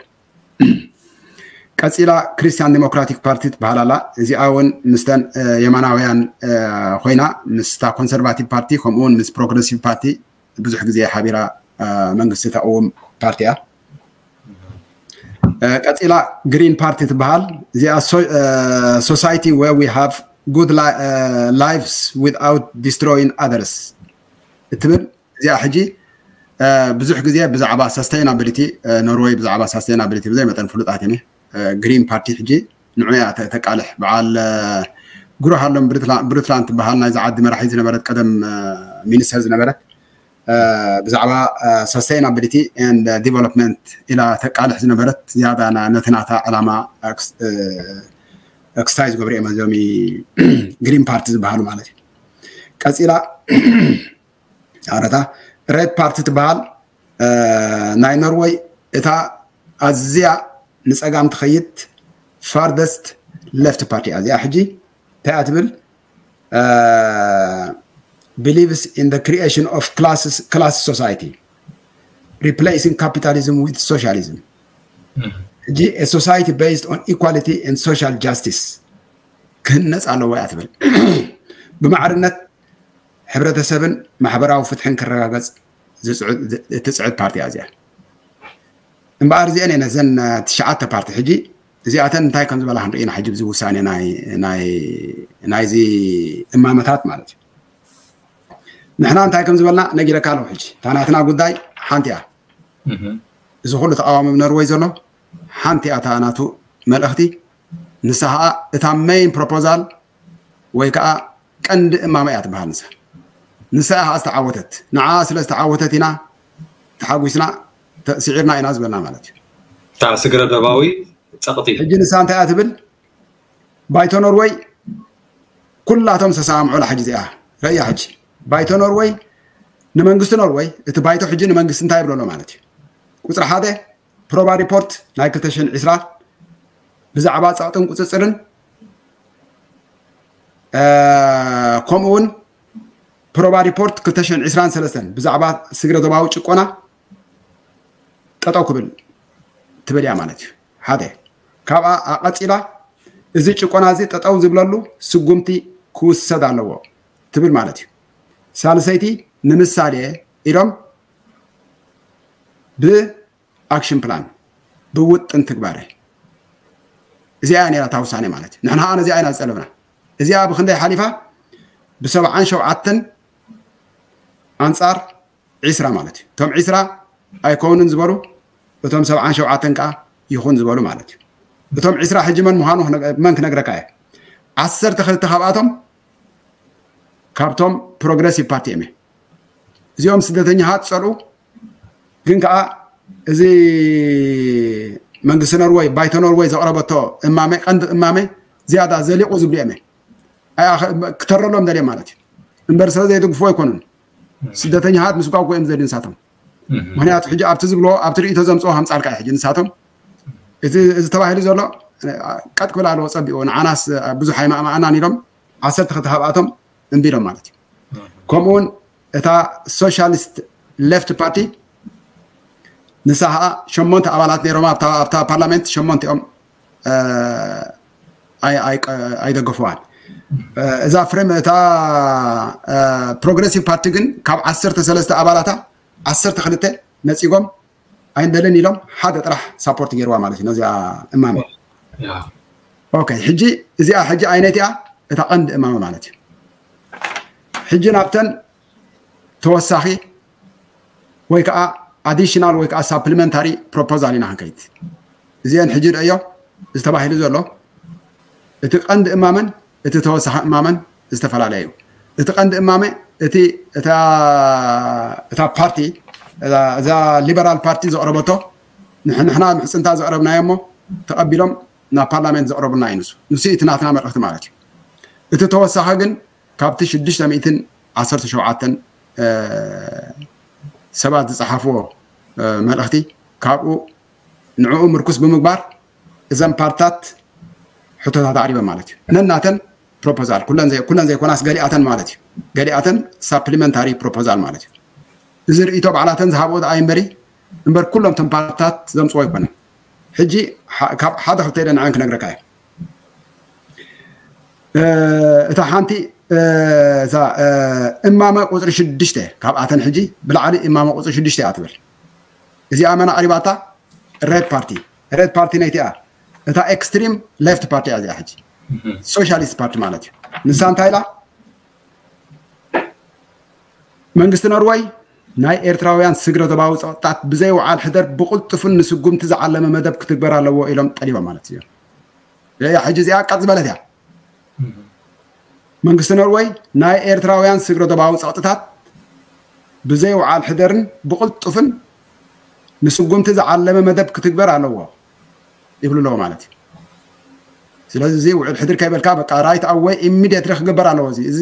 ቀፂላ ክርስቲያን ዲሞክራቲክ ፓርቲ ትበሃል ኣላ። እዚኣ እውን ምስተን የማናውያን ኮይና ምስታ ኮንሰርቫቲቭ ፓርቲ ከምኡውን ምስ ፕሮግረሲቭ ፓርቲ ብዙሕ ግዜ ሓቢራ መንግስቲ ተቕውም ፓርቲ እያ። ቀፂላ ግሪን ፓርቲ ትበሃል። እዚኣ society where we have good lives without destroying others እትብል፣ እዚኣ ሕጂ ብዙሕ ግዜ ብዛዕባ ሰስተይናብሊቲ፣ ኖርወይ ብዛዕባ ሰስተይናብሊቲ ብዘይ መጠን ፍሉጣት እየ። ግሪን ፓርቲ ሕጂ ንዑ እያ ተቃልሕ። በዓል ግሩሃሎም ብሩትላንድ ትበሃል ናይዚ ዓዲ መራሒ ዝነበረት ቀደም ሚኒስተር ዝነበረት ብዛዕባ sustainability and development ኢላ ተቃልሕ ዝነበረት ዝያዳ ነቲ ናታ ዕላማ ክስታይ ዝገብሩ እዮም እዞም ግሪን ፓርቲ ዝበሃሉ ማለት እዩ። ቀፂላ ኣረታ ሬድ ፓርቲ ትበሃል ናይ ኖርወይ እታ ኣዝያ ንፀጋም ትኸይድ farthest left ፓርቲ እያ። እዚኣ ሕጂ እንታይ እያ ትብል? Believes in the creation of classes class society replacing capitalism with socialism. ሕጂ a society based on equality and social justice ክህነፅ ኣለዎ እያ ትብል። ብማዕርነት ሕብረተሰብን ማሕበራዊ ፍትሕን ክረጋገፅ እትፅዕድ ፓርቲ እያ እዚኣ። እምበኣር እዚአን እየን እዘን ትሽዓተ ፓርቲ ሕጂ እዚኣተን እንታይ ከም ዝበላ ክንርኢ ኢና ሕጂ ብዚ ውሳኔ ናይዚ እማመታት ማለት እዩ። ንሕና እንታይ ከም ዝበልና ነጊረካ ኣለኹ። ሕጂ እታ ናትና ጉዳይ ሓንቲ እያ። እዚ ኩሉ ተቃዋሚ ኣብ ኖርወይ ዘሎ ሓንቲ እያ እታ ናቱ መልእኽቲ። ንሳ ከዓ እታ main proposal ወይ ከዓ ቀንዲ እማመ እያ ትበሃል ንሳ። ንሳ እያ ከዓ ዝተዓወተት። ንዓ ስለ ዝተዓወተት ኢና ተሓጒስና ስዒርና ኢና ዝበልና ማለት እዩ። እታ ስግረ ዶባዊ ፀቕጢ ሕጂ ንሳ እንታይ እያ ትብል? ባይቶ ኖርወይ ኩላቶም ዝተሰማምዑላ ሕጂ እዚኣ ረእያ። ሕጂ ባይቶ ኖርወይ ንመንግስቲ ኖርወይ እቲ ባይቶ ሕጂ ንመንግስቲ እንታይ ይብለሎ ማለት እዩ? ቁፅሪ ሓደ ፕሮባ ሪፖርት ናይ ክልተ ሽሕን ዕስራን ብዛዕባ ፀቕጥን ቁፅፅርን ከምኡ እውን ፕሮባ ሪፖርት ክልተ ሽሕን ዕስራን ሰለስተን ብዛዕባ ስግረ ዶባዊ ጭቆና ጠጠው ክብል ትብል እያ ማለት እዩ። ሓደ ካብኣ ኣቐፂላ እዚ ጭቆና እዚ ጠጠው ዝብለሉ ስጉምቲ ክውሰድ ኣለዎ ትብል ማለት እዩ። ሳልሰይቲ ንምሳሌ ኢሎም ብ action plan ብውጥን ትግባረ እዚኣ እያ ነራ እታ ውሳኔ ማለት እዩ። ንሕና ከዓ ነዚኣ ኢና ዝጠለብና። እዚኣ ብክንደይ ሓሊፋ? ብሰብዓን ሸውዓተን ኣንፃር ዒስራ ማለት እዩ። እቶም ዒስራ ኣይኮኑን ዝበሉ እቶም ሰብዓን ሸውዓተን ከዓ ይኹን ዝበሉ ማለት እዩ። እቶም ዒስራ ሕጂ መን ምዃኑ መን ክነግረካ እየ። ዓሰርተ ክልተ ካብኣቶም ካብቶም ፕሮግረሲቭ ፓርቲ እዮም። እዚኦም ስደተኛታት ዝፀልኡ ግን ከዓ እዚ መንግስቲ ኖርወይ ባይቶ ኖርወይ ዘቕረበቶ እማመ ቀንዲ እማመ ዝያዳ ዘሊቑ ዝብሉ እዮም። ክተረሎም ደልዮም ማለት እዩ። እምበር ስለ ዘይድግፎ ኣይኮኑን። ስደተኛታት ምስጓጉ እዮም ዘድልዩ ንሳቶም። ምክንያቱ ሕጂ ኣብቲ ዝብሎ ኣብቲ ርእቶ ዘምፅኦ ከምፃልካ እዩ። ሕጂ ንሳቶም እዚ ተባሂሉ ዘሎ ቀጥ ክብል ኣለዎ ፀቢቑ ንዓናስ ብዙሕ ኣይማእማኣናን ኢሎም ዓሰርተ ክልተ ካብኣቶም እምቢ ኢሎም ማለት እዩ። ከምኡውን እታ ሶሻሊስት ሌፍት ፓርቲ ንሳ ከዓ ሸሞንተ ኣባላት ነይሮም ኣብታ ፓርላሜንት ሸሞንቲኦም ኣይደገፍዋን። እዛ ፍሬም እታ ፕሮግረሲቭ ፓርቲ ግን ካብ ዓሰርተ ሰለስተ ኣባላታ ዓሰርተ ክልተ ነፂጎም ኣይንደልን ኢሎም ሓደ ጥራሕ ሳፖርት ገይርዋ ማለት እዩ ነዚኣ እማመ። ኦኬ ሕጂ እዚኣ ሕጂ ኣይነት እያ እታ ቀንዲ እማመ ማለት እዩ። ሕጂ ናብተን ተወሳኺ ወይ ከዓ ኣዲሽናል ወይ ከዓ ሳፕሊመንታሪ ፕሮፖዛል ኢና ክንከይድ። እዚአን ሕጂ ርእዮ ዝተባሂሉ ዘሎ እቲ ቀንዲ እማመን እቲ ተወሳኺ እማመን ዝተፈላለየ እዩ። እቲ ቀንዲ እማመ እቲ እታ ፓርቲ እዛ ሊበራል ፓርቲ ዘቕረበቶ ንሕና ምሕፅንታ ዘቕረብናዮ እሞ ተቐቢሎም ናብ ፓርላሜንት ዘቕረቡልና እዩ ንሱ ንሱ እቲ ናትና መልእኽቲ ማለት እዩ። እቲ ተወሳኺ ግን ካብቲ ሽዱሽተ ሚእትን ዓሰርተ ሸውዓተን ሰባት ዝፀሓፍዎ መልእኽቲ ካብኡ ንዕኡ ምርኩስ ብምግባር እዘን ፓርትታት ሕቶታት ኣቕሪበን ማለት እዩ። ነናተን ፕሮፖዛል ኩለን ዘይኮናስ ገሊኣተን ማለት እዩ። ገሊኣተን ሳፕሊመንታሪ ፕሮፖዛል ማለት እዩ። እዚ ርእይቶ ባዕላተን ዝሃብኦ ደኣ ይንበሪ እምበር ኩሎም ተን ፓርትታት ዘምፅዎ ኣይኮነን። ሕጂ ካብ ሓደ ክልተ ኢለ ንዐን ክነግረካ እየ። እታ ሓንቲ እዛ እማመ ቁፅሪ ሽዱሽተ ካብኣተን ሕጂ ብላዕሊ እማመ ቁፅሪ ሽዱሽተ እያ ትብል። እዚኣ መን ኣቕሪባታ? ሬድ ፓርቲ። ሬድ ፓርቲ ነይቲኣ እታ ኤክስትሪም ሌፍት ፓርቲ እያ እዚኣ ሕጂ ሶሻሊስት ፓርቲ ማለት እዩ። ንሳ እንታይ ኢላ? መንግስቲ ኖርወይ ናይ ኤርትራውያን ስግረ ዶባዊ ፀቕጥታት ብዘይ ውዓል ሕደር ብቕልጡፍን ንስጉምቲ ዝዓለመ መደብ ክትግበር ኣለዎ ኢሎም ጠሊቦም ማለት እዩ። ሕጂ እዚኣ ቀጥ ዝበለት እያ። መንግስቲ ኖርወይ ናይ ኤርትራውያን ስግረ ዶባዊ ጸቕጥታት ብዘይ ውዓል ሕደርን ብቕልጡፍን ንስጉምቲ ዝዓለመ መደብ ክትግበር ኣለዎ ይብሉ ኣለዎ ማለት እዩ። ስለዚ እዚ ውዕል ሕድር ከይበልካ በቃ right away immediately ክግበር ኣለዎ። እዚ እዚ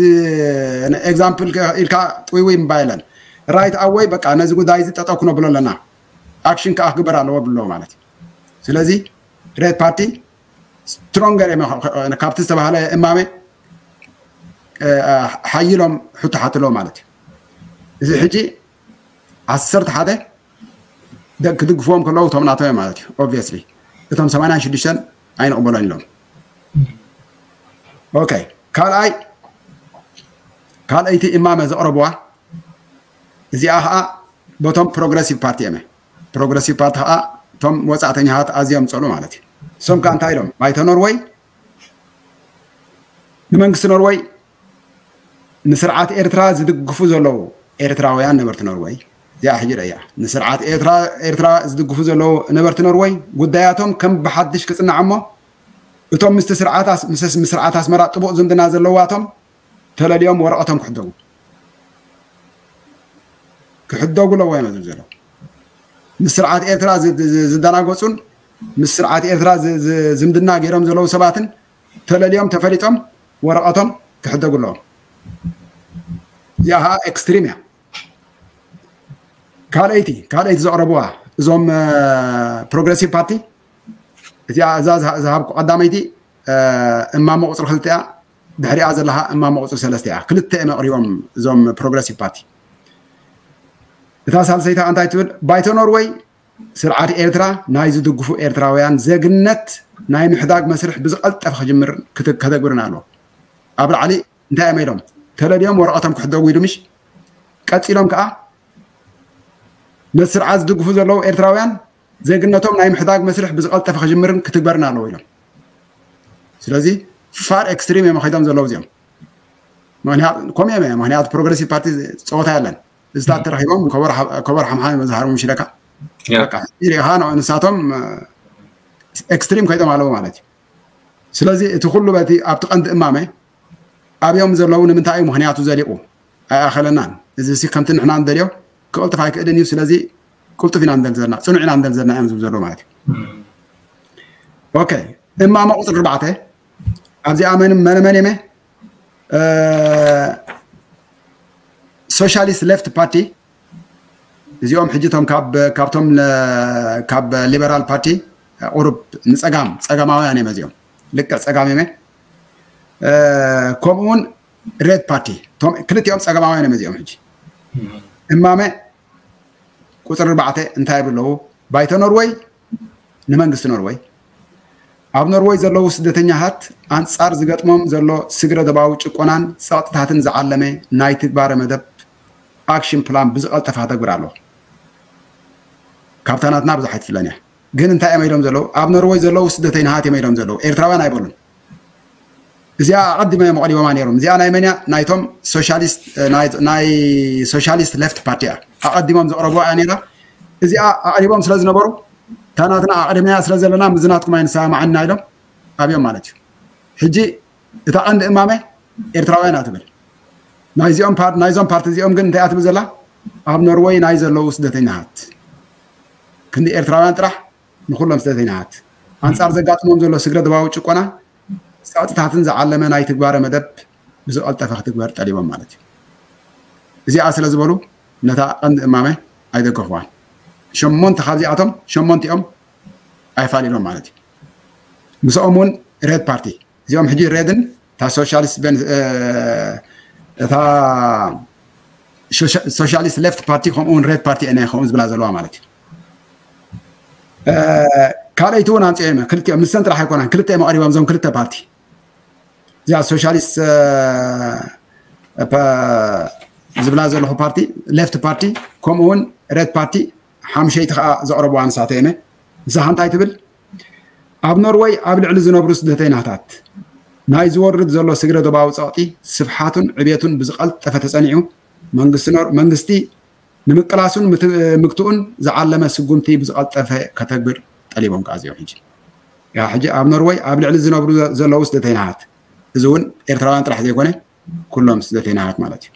example ኢልካ ጥውይውይ ምባል የለን። Right away በቃ ነዚ ጉዳይ እዚ ጠጠው ክነብሎ ኣለና፣ action ከዓ ክግበር ኣለዎ ብሎ ማለት እዩ። ስለዚ ሬድ ፓርቲ stronger እዮም፣ ካብቲ ዝተባህለ እማመ ሓይሎም ሕቶ ሓትሎ ማለት እዩ። እዚ ሕጂ ዓሰርተ ሓደ ክድግፍዎም ከለዉ እቶም ናቶም ማለት እዩ። Obviously እቶም ሰማንያን ሽዱሽተን ኣይንቕበሎን ኢሎም። ኦኬ፣ ካልኣይ ካልኣይቲ እማመ ዘቕረብዋ እዚኣ ከዓ በቶም ፕሮግረሲቭ ፓርቲ እየመ። ፕሮግረሲቭ ፓርቲ ከዓ እቶም ወፃእተኛታት ኣዝዮም ፀሉ ማለት እዩ። እሶም ከዓ እንታይ ኢሎም? ባይቶ ኖርወይ ንመንግስቲ ኖርወይ ንስርዓት ኤርትራ ዝድግፉ ዘለዉ ኤርትራውያን ነበርቲ ኖርወይ፣ እዚኣ ሕጂ ረእያ፣ ንስርዓት ኤርትራ ኤርትራ ዝድግፉ ዘለዉ ነበርቲ ኖርወይ ጉዳያቶም ከም ብሓድሽ ክጽናዕ እሞ እቶም ምስቲ ስርዓት ኣስ- ምስ ምስ ስርዓት ኣስመራ ጥቡቕ ዝምድና ዘለዋቶም ተለልዮም ወረቐቶም ክሕደጉ ክሕደጉ ኣለዎ እዮም ዝብል ዘለዉ። ምስ ስርዓት ኤርትራ ዝ- ዝ- ዝደናገጹን ምስ ስርዓት ኤርትራ ዝ- ዝ- ዝምድና ገይሮም ዘለዉ ሰባትን ተለልዮም ተፈሊጦም ወረቐቶም ክሕደጉ ኣለዎም። እዚኣ ከዓ ኤክስትሪም እያ። ካልኣይቲ ካልኣይቲ ዘቕረብዋ እዞም ፕሮግረሲቭ ፓርቲ እዚኣ እዛ ዝሃ- ዝሃብኩ ቀዳመይቲ እማመ ቁፅሪ ክልተ እያ። ድሕሪኣ ዘለካ እማመ ቁፅሪ ሰለስተ እያ። ክልተ እዮም ኣቕሪቦም እዞም ፕሮግረሲቭ ፓርቲ። እታ ሳልሰይታ እንታይ ትብል? ባይቶ ኖርወይ ስርዓት ኤርትራ ናይ ዝድግፉ ኤርትራውያን ዜግነት ናይ ምሕዳግ መስርሕ ብዝቐልጠፈ ክጅምር ክተ- ከተግብርን ኣለዎ። ኣብ ላዕሊ እንታይ እዮም ኢሎም? ተለልዮም ወረቐቶም ክሕደጉ ኢሉ ምሽ? ቀፂሎም ከዓ ነቲ ስርዓት ዝድግፉ ዘለዉ ኤርትራውያን ዜግነቶም ናይ ምሕዳግ መስርሕ ብዝቐልጠፈ ክጅምርን ክትግበርን ኣለዎ ኢሎም። ስለዚ ፋር ኤክስትሪም እዮም ከይዶም ዘለዉ እዚኦም። ምክንያቱ ከምኡ እዮም። ምክንያቱ ፕሮግረሲቭ ፓርቲ ፀወታ የለን። እዚታት ተረኪቦም ከበሮ ሓ- ከበሮ ሓምሓም እዮም ዝሃርሙ ሽለካ። በቃ ሪኢኻ ንሳቶም ኤክስትሪም ከይዶም ኣለዉ ማለት እዩ። ስለዚ እቲ ኩሉ በቲ ኣብቲ ቀንዲ እማመ ኣብዮም ዘለዉ ንምንታይ እዩ ምክንያቱ ዘሊቑ ኣይኣኸለናን። እዚ ሲ ከምቲ ንሕና ንደልዮ ክቕልጥፍ ኣይክእልን እዩ። ስለዚ ቅልጡፍ ኢና ንደል ዘለና፣ ፅኑዕ ኢና ንደል ዘለና እዮም ዝብሉ ዘለዉ ማለት እዩ። ኦኬ፣ እማመ ቁፅሪ ኣርባዕተ ኣብዚኣ መን መን መን የመ ሶሻሊስት ሌፍት ፓርቲ እዚኦም ሕጂ እቶም ካብ ካብቶም ለ- ካብ ሊበራል ፓርቲ ቁሩብ ንፀጋም ፀጋማውያን እዮም እዚኦም፣ ልክዕ ፀጋም እዮም። ከምኡውን ሬድ ፓርቲ እቶም ክልቲኦም ፀጋማውያን እዮም እዚኦም። ሕጂ እማመ ቁፅሪ ኣርባዕተ እንታይ ይብሉ ኣለዉ? ባይቶ ኖርወይ ንመንግስቲ ኖርወይ ኣብ ኖርወይ ዘለዉ ስደተኛታት ኣንጻር ዝገጥሞም ዘሎ ስግረ ዶባዊ ጭቆናን ጸቕጥታትን ዝዓለመ ናይ ትግባረ መደብ ኣክሽን ፕላን ብዝቐልጠፈ ከተግብር ኣለዎ። ካብታ ናትና ብዙሕ ኣይትፍለን እያ። ግን እንታይ እዮም ኢሎም ዘለዉ? ኣብ ኖርወይ ዘለዉ ስደተኛታት እዮም ኢሎም ዘለዉ፣ ኤርትራውያን ኣይበሉን። እዚኣ ኣቐዲሞም እዮም ኣቕሪቦማ ነይሮም። እዚኣ ናይ መን እያ? ናይቶም ሶሻሊስት ናይ ናይ ሶሻሊስት ሌፍት ፓርቲ እያ። ኣቐዲሞም ዘቕረብዋ እያ ነይራ። እዚኣ ኣቕሪቦም ስለ ዝነበሩ እታ ናትና ኣቕሪብናያ ስለ ዘለና ምስዚ ናትኩም ኣይንሰማማዕን ኢና ኢሎም ኣብዮም ማለት እዩ። ሕጂ እታ ቀንዲ እማመ ኤርትራውያን እያ ትብል። ናይዚኦም ፓርቲ ናይዞም ፓርቲ እዚኦም ግን እንታይ እያ ትብል ዘላ? ኣብ ኖርወይ ናይ ዘለዉ ስደተኛታት ክንዲ ኤርትራውያን ጥራሕ ንኹሎም ስደተኛታት ኣንጻር ዘጋጥሞም ዘሎ ስግረ ዶባዊ ጭቆና ጸቕጥታትን ዝዓለመ ናይ ትግባረ መደብ ብዝቐልጠፈ ክትግበር ጠሊቦም ማለት እዩ። እዚኣ ስለ ዝበሉ ነታ ቀንዲ እማመ ኣይደገፍዋን። ሸሞንተ ካብዚኣቶም ሸሞንቲኦም ኣይፋሊሎም ማለት እዩ። ምስኦም እውን ሬድ ፓርቲ እዚኦም ሕጂ ሬድን እታ ሶሻሊስት ቤን እታ ሶሻሊስት ሌፍት ፓርቲ ከምኡ እውን ሬድ ፓርቲ እነ ከምኡ ዝብላ ዘለዋ ማለት እዩ። ካልኣይቲ እውን ኣምፅኦም ክልቲኦም ንሰን ጥራሕ ኣይኮናን ክልተ እዮም ኣቕሪቦም እዞም ክልተ ፓርቲ እዚኣ ሶሻሊስት ዝብላ ዘለኹ ፓርቲ ሌፍት ፓርቲ ከምኡ እውን ሬድ ፓርቲ ሓምሸይቲ ከዓ ዘቕረብዋ ንሳተ እየ። ንሳ እንታይ ትብል? ኣብ ኖርወይ ኣብ ልዕሊ ዝነብሩ ስደተይናታት ናይ ዝወርድ ዘሎ ስግረ ዶባዊ ጸቕጢ ስፍሓቱን ዕቤቱን ብዝቐልጠፈ ተጸኒዑ መንግስቲ ኖር መንግስቲ ንምቅላሱን ምግትኡን ዝዓለመ ስጉምቲ ብዝቐልጠፈ ከተግብር ጠሊቦም ከኣ እዚኦም ሕጂ ሕጂ ኣብ ኖርወይ ኣብ ልዕሊ ዝነብሩ ዘለዉ ስደተይናሃት፣ እዚ እውን ኤርትራውያን ጥራሕ ዘይኮነ ኩሎም ስደተይናሃት ማለት እዩ።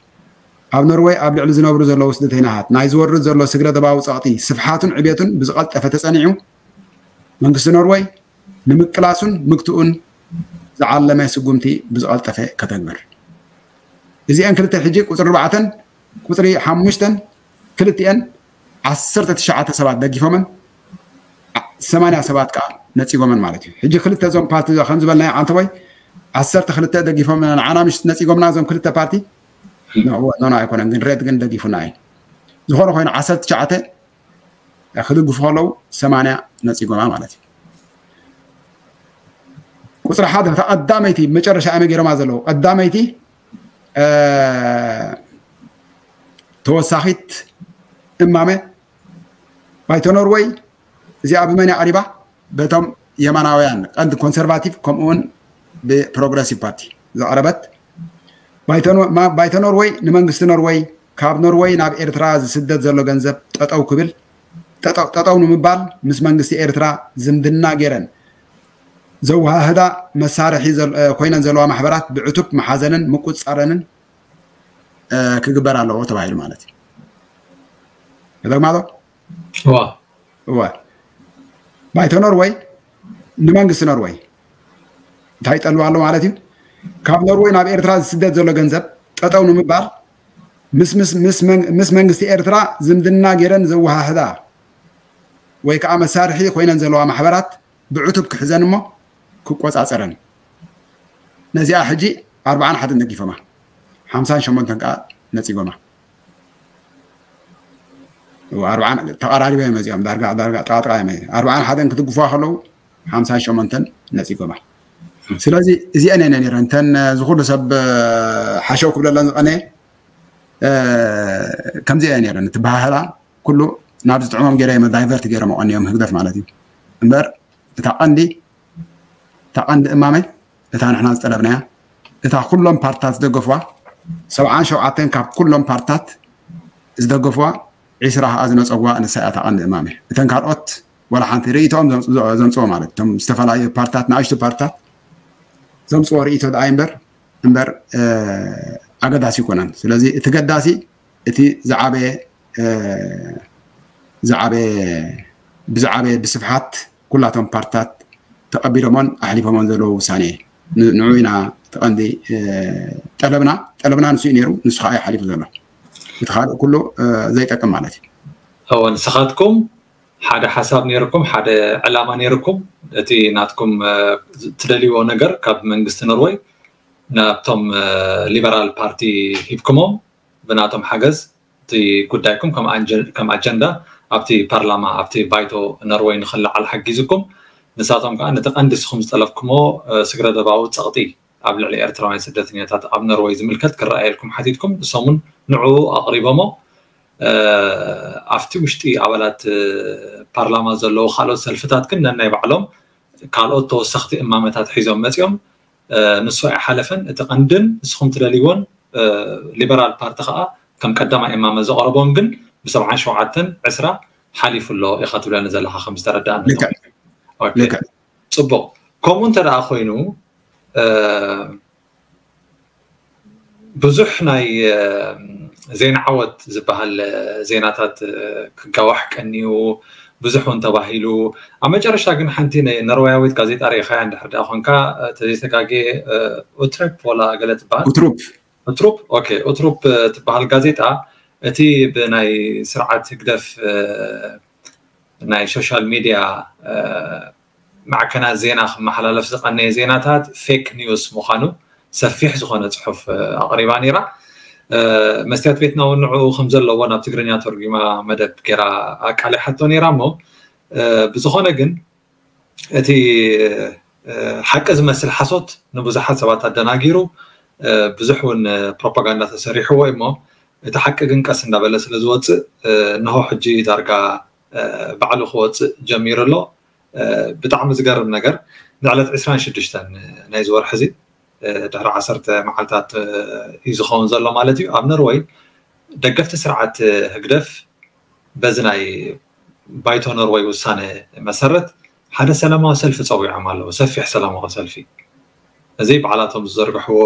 ኣብ ኖርወይ ኣብ ልዕሊ ዝነብሩ ዘለዉ ስደተይናሃት ናይ ዝወርድ ዘሎ ስግረ ደባዊ ጸቕጢ ስፍሓቱን ዕቤቱን ብዝቐልጠፈ ተጸኒዑ መንግስቲ ኖርወይ ንምቅላሱን ምግትኡን ዝዓለመ ስጉምቲ ብዝቐልጠፈ ከተግብር። እዚአን ክልተ ሕጂ ቁፅሪ ኣርባዕተን ቁፅሪ ሓሙሽተን ክልቲአን ዓሰርተ ትሽዓተ ሰባት ደጊፎመን ሰማንያ ሰባት ከዓ ነፂጎመን ማለት እዩ። ሕጂ ክልተ እዞም ፓርቲ ከም ዝበልናዮ ዓንተቦይ ዓሰርተ ክልተ ደጊፎም ንዓና ምሽ ነፂጎምና እዞም ክልተ ፓርቲ ኖ ኣይኮነን ግን ሬድ ግን ደጊፉና እዩ። ዝኾነ ኮይኑ ዓሰርተ ትሽዓተ ክድግፉ ከለዉ ሰማንያ ነፂጎማ ማለት እዩ። ቁፅሪ ሓደ እታ ቀዳመይቲ መጨረሻ ኣመ ገይሮማ ዘለዉ ቀዳመይቲ ተወሳኺት እማመ ባይቶ ኖርወይ እዚኣ ብመን ኣቕሪባ? በቶም የማናውያን ቀንዲ ኮንሰርቫቲቭ ከምኡውን ብፕሮግረሲቭ ፓርቲ ዝቐረበት ባይቶ ኖርወይ ንመንግስቲ ኖርወይ ካብ ኖርወይ ናብ ኤርትራ ዝስደድ ዘሎ ገንዘብ ጠጠው ክብል ጠጠው ንምባል ምስ መንግስቲ ኤርትራ ዝምድና ገይረን ዘወሃህዳ መሳርሒ ኮይነን ዘለዋ ማሕበራት ብዕቱብ መሓዘንን ምቁፅፃረንን ክግበር ኣለዎ ተባሂሉ ማለት እዩ። ተደግማዶ እዋ ባይቶ ኖርወይ ንመንግስቲ ኖርወይ እንታይ ይጠልብ ኣሎ ማለት እዩ? ካብ ኖርወይ ናብ ኤርትራ ዝስደድ ዘሎ ገንዘብ ጠጠው ንምባል ምስ መንግስቲ ኤርትራ ዝምድና ገይረን ዘወሃህዳ ወይ ከዓ መሳርሒ ኮይነን ዘለዋ ማሕበራት ብዕቱብ ክሕዘን እሞ ክቆፃፀረን። ነዚኣ ሕጂ ኣርባዓን ሓደን ነጊፎማ ሓምሳን ሸሞንተን ከዓ ነፂጎማ። ተቐራሪበ እዮም መዚኦም ዳርጋ ዳርጋ ጠቃጥቃ እዮም። ኣርባዓን ሓደን ክድግፉዋ ከለዉ ሓምሳን ሸሞንተን ነፂጎማ። ስለዚ እዚአን እየን ነይረን እተን ዝኩሉ ሰብ ሓሸው ክብለለን ዝቀነየ ከምዚ እየ ነይረን ትበሃህላ ኩሉ ናብ ዝጥዕሞም ገይረ እዮም ዳይቨርት ገይሮም ኣቐንዮም ህግደፍ ማለት እዩ። እምበር እታ ቀንዲ እታ ቀንዲ እማመ እታ ንሕና ዝጠለብናያ እታ ኩሎም ፓርትታት ዝደገፍዋ ሰብዓን ሸውዓተን ካብ ኩሎም ፓርትታት ዝደገፍዋ ዒስራ ከዓ ዝነፀዋ ንሳ እያ እታ ቀንዲ እማመ። እተን ካልኦት ወላ ሓንቲ ርእይቶኦም ዘምፅዎ ማለት እቶም ዝተፈላለዩ ፓርትታት ንኣሽቱ ፓርትታት ዘምፅዎ ርእይቶ ደኣ እምበር እምበር ኣገዳሲ ይኮነን። ስለዚ እቲ ገዳሲ እቲ ዝዓበየ ዝዓበየ ብዝዓበየ ብስፍሓት ኩላቶም ፓርትታት ተቐቢሎሞን ኣሕሊፎሞን ዘለዎ ውሳኔ እዩ። ንዑ ኢና ተቐንዲ ጠለብና ጠለብና ንሱ እዩ ነይሩ። ንሱ ከዓ እዩ ሓሊፉ ዘሎ። እቲ ካልእ ኩሉ ዘይጠቅም ማለት እዩ። እወ ንስኻትኩም ሓደ ሓሳብ ነይርኩም ሓደ ዕላማ ነይርኩም እቲ ናትኩም ትደልይዎ ነገር ካብ መንግስቲ ኖርወይ ናብቶም ሊበራል ፓርቲ ሂብኩሞም ብናቶም ሓገዝ እቲ ጉዳይኩም ከም ኣጀንዳ ኣብቲ ፓርላማ ኣብቲ ባይቶ ኖርወይ ንክለዓል ሓጊዝኩም ንሳቶም ከዓ ነቲ ቀንዲ ንስኹም ዝጠለብኩሞ ስግረ ደባዊ ፀቕጢ ኣብ ልዕሊ ኤርትራውያን ስደተኛታት ኣብ ኖርወይ ዝምልከት ክረኣየልኩም ሓቲትኩም ንሶም እውን ንዕኡ ኣቕሪቦሞ ኣብቲ ውሽጢ ኣባላት ፓርላማ ዘለዉ ካልኦት ሰልፍታት ግን ነናይ ባዕሎም ካልኦት ተወሰኽቲ እማመታት ሒዞም መፂኦም ንሱ ኣይሓለፈን እቲ ቀንድን ንስኹም ትደልይዎን ሊበራል ፓርቲ ከዓ ከም ቀዳማይ እማመ ዘቕረቦም ግን ብሰብዓን ሸውዓተን ዕስራ ሓሊፉ ኣሎ ኢኻ ትብለኒ ዘለካ ከም ዝተረዳእኒ ጽቡቕ ከምኡ እንተ ደኣ ኮይኑ ብዙሕ ናይ ዜና ዓወት ዝበሃል ዜናታት ክጋዋሕ ቀንዩ ብዙሕ እውን ተባሂሉ ኣብ መጨረሽታ ግን ሓንቲ ነርወያዊት ጋዜጣ ርኢኻያ እንድሕር ደኣ ኮንካ ተዘይተጋጌ ኡትረፕ ወላ ገለ ትበሃል ኡትሩፕ ኡትሩፕ ትበሃል ጋዜጣ እቲ ብናይ ስርዓት ህግደፍ ናይ ሶሻል ሚድያ ማዕከናት ዜና ክመሓላለፍ ዝቐነየ ዜናታት ፌክ ኒውስ ምዃኑ ሰፊሕ ዝኾነ ፅሑፍ ኣቕሪባ ነይራ። መስትያት ቤትና እውን ንዕኡ ከም ዘለዎ ናብ ትግርኛ ተርጒማ መደብ ገይራ ኣቃሊሓቶ ነይራ እሞ ብዝኾነ ግን እቲ ሓቂ ዝመስል ሓሶት ንብዙሓት ሰባት ኣደናጊሩ ብዙሕ እውን ፕሮፓጋንዳ ተሰሪሕዎ እሞ እቲ ሓቂ ግን ቀስ እንዳበለ ስለ ዝወፅእ እንሆ ሕጂ ዳርጋ ባዕሉ ክወፅእ ጀሚሩ ኣሎ። ብጣዕሚ ዝገርም ነገር ንዕለት ዕስራን ሽዱሽተን ናይዚ ወርሒ እዚ ድሕሪ ዓሰርተ መዓልታት እዩ ዝኸውን ዘሎ ማለት እዩ ኣብ ኖርወይ ደገፍቲ ስርዓት ህግደፍ በዚ ናይ ባይቶ ኖርወይ ውሳነ መሰረት ሓደ ሰላማዊ ሰልፊ ጸዊዖም ኣለዉ፣ ሰፊሕ ሰላማዊ ሰልፊ። እዚ ባዕላቶም ዝዘርግሕዎ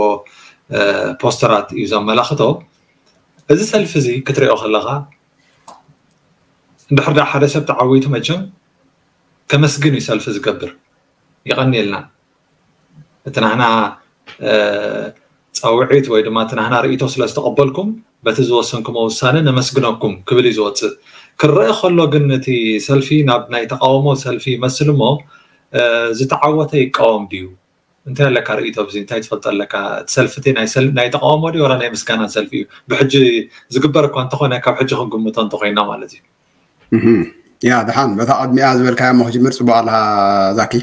ፖስተራት እዩ ዘመላኽቶ። እዚ ሰልፊ እዚ ክትሪኦ ከለኻ፣ እንድሕር ዳ ሓደ ሰብ ተዓዊቱ፣ መቸም ከመስግን እዩ ሰልፊ ዝገብር። ይቐንየልና። እቲ ናህና ፃውዒት ወይ ድማ እቲ ናህና ርእይቶ ስለ ዝተቐበልኩም፣ በቲ ዝወሰንኩሞ ውሳነ ነመስግነኩም ክብል እዩ ዝወፅእ። ክረአ ከሎ ግን፣ እቲ ሰልፊ ናብ ናይ ተቃውሞ ሰልፊ ይመስል እሞ፣ ዝተዓወተ ይቃወም ድዩ? እንታይ ኣለካ ርእይቶ? ብዚ እንታይ ትፈልጦ ኣለካ? እቲ ሰልፊ እቲ ናይ ተቃውሞ ድዩ ወላ ናይ ምስጋና ሰልፊ እዩ? ብሕጂ ዝግበር እኳ እንተኾነ፣ ካብ ሕጂ ክንግምቶ እንተኮይና ማለት እዩ። ያ፣ ደሓን፣ በታ ቅድሚያ ዝበልካያ እሞ ክጅምር። ጽቡቅ ኣለካ ዛኪ።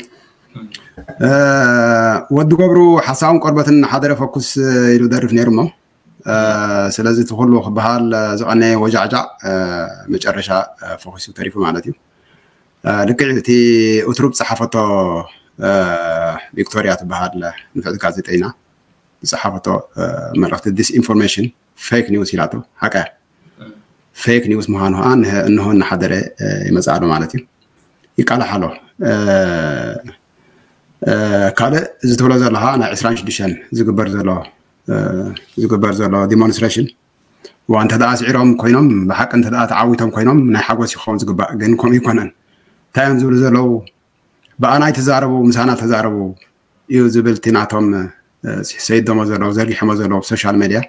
ወዲ ገብሩ፣ ሓሳውን ቆርበትን ሓደረ ፈኩስ ኢሉ ደርፍ ነይሩ እሞ፣ ስለዚ እቲ ኩሉ ክበሃል ዝቀነየ ወጃዕጃዕ፣ መጨረሻ ፈኩሱ ተሪፉ ማለት እዩ። ልክዕ፣ እቲ ኡትሩብ ዝጸሓፈቶ፣ ቪክቶሪያ ትበሃል ንፍዕቲ ጋዜጠኛ ዝጸሓፈቶ መልእኽቲ፣ ዲስኢንፎርሜሽን፣ ፌክ ኒውስ ኢላቶ። ሓቀ ፌክ ኒውስ ምዃኑ ከዓ እንሆ እናሓደረ ይመጽእ ኣሎ ማለት እዩ። ይቃላሕ ኣሎ። ካልእ እዚ ትብሎ ዘለኻ ናይ ዕስራን ሽዱሽተን ዝግበር ዘሎ ዝግበር ዘሎ ዲሞንስትሬሽን፣ ዋ፣ እንተ ደኣ ስዒሮም ኮይኖም፣ ብሓቂ እንተ ደኣ ተዓዊቶም ኮይኖም፣ ናይ ሓጎስ ይኸውን ዝግባእ። ግን ከምኡ ይኮነን። እንታይ እዮም ዝብሉ ዘለዉ? ብኣና ኣይትዛረቡ፣ ምሳና ተዛረቡ እዩ ዝብል እቲ ናቶም፣ ሰይዶሞ ዘለዉ፣ ዘርጊሖሞ ዘለዉ ኣብ ሶሻል ሜድያ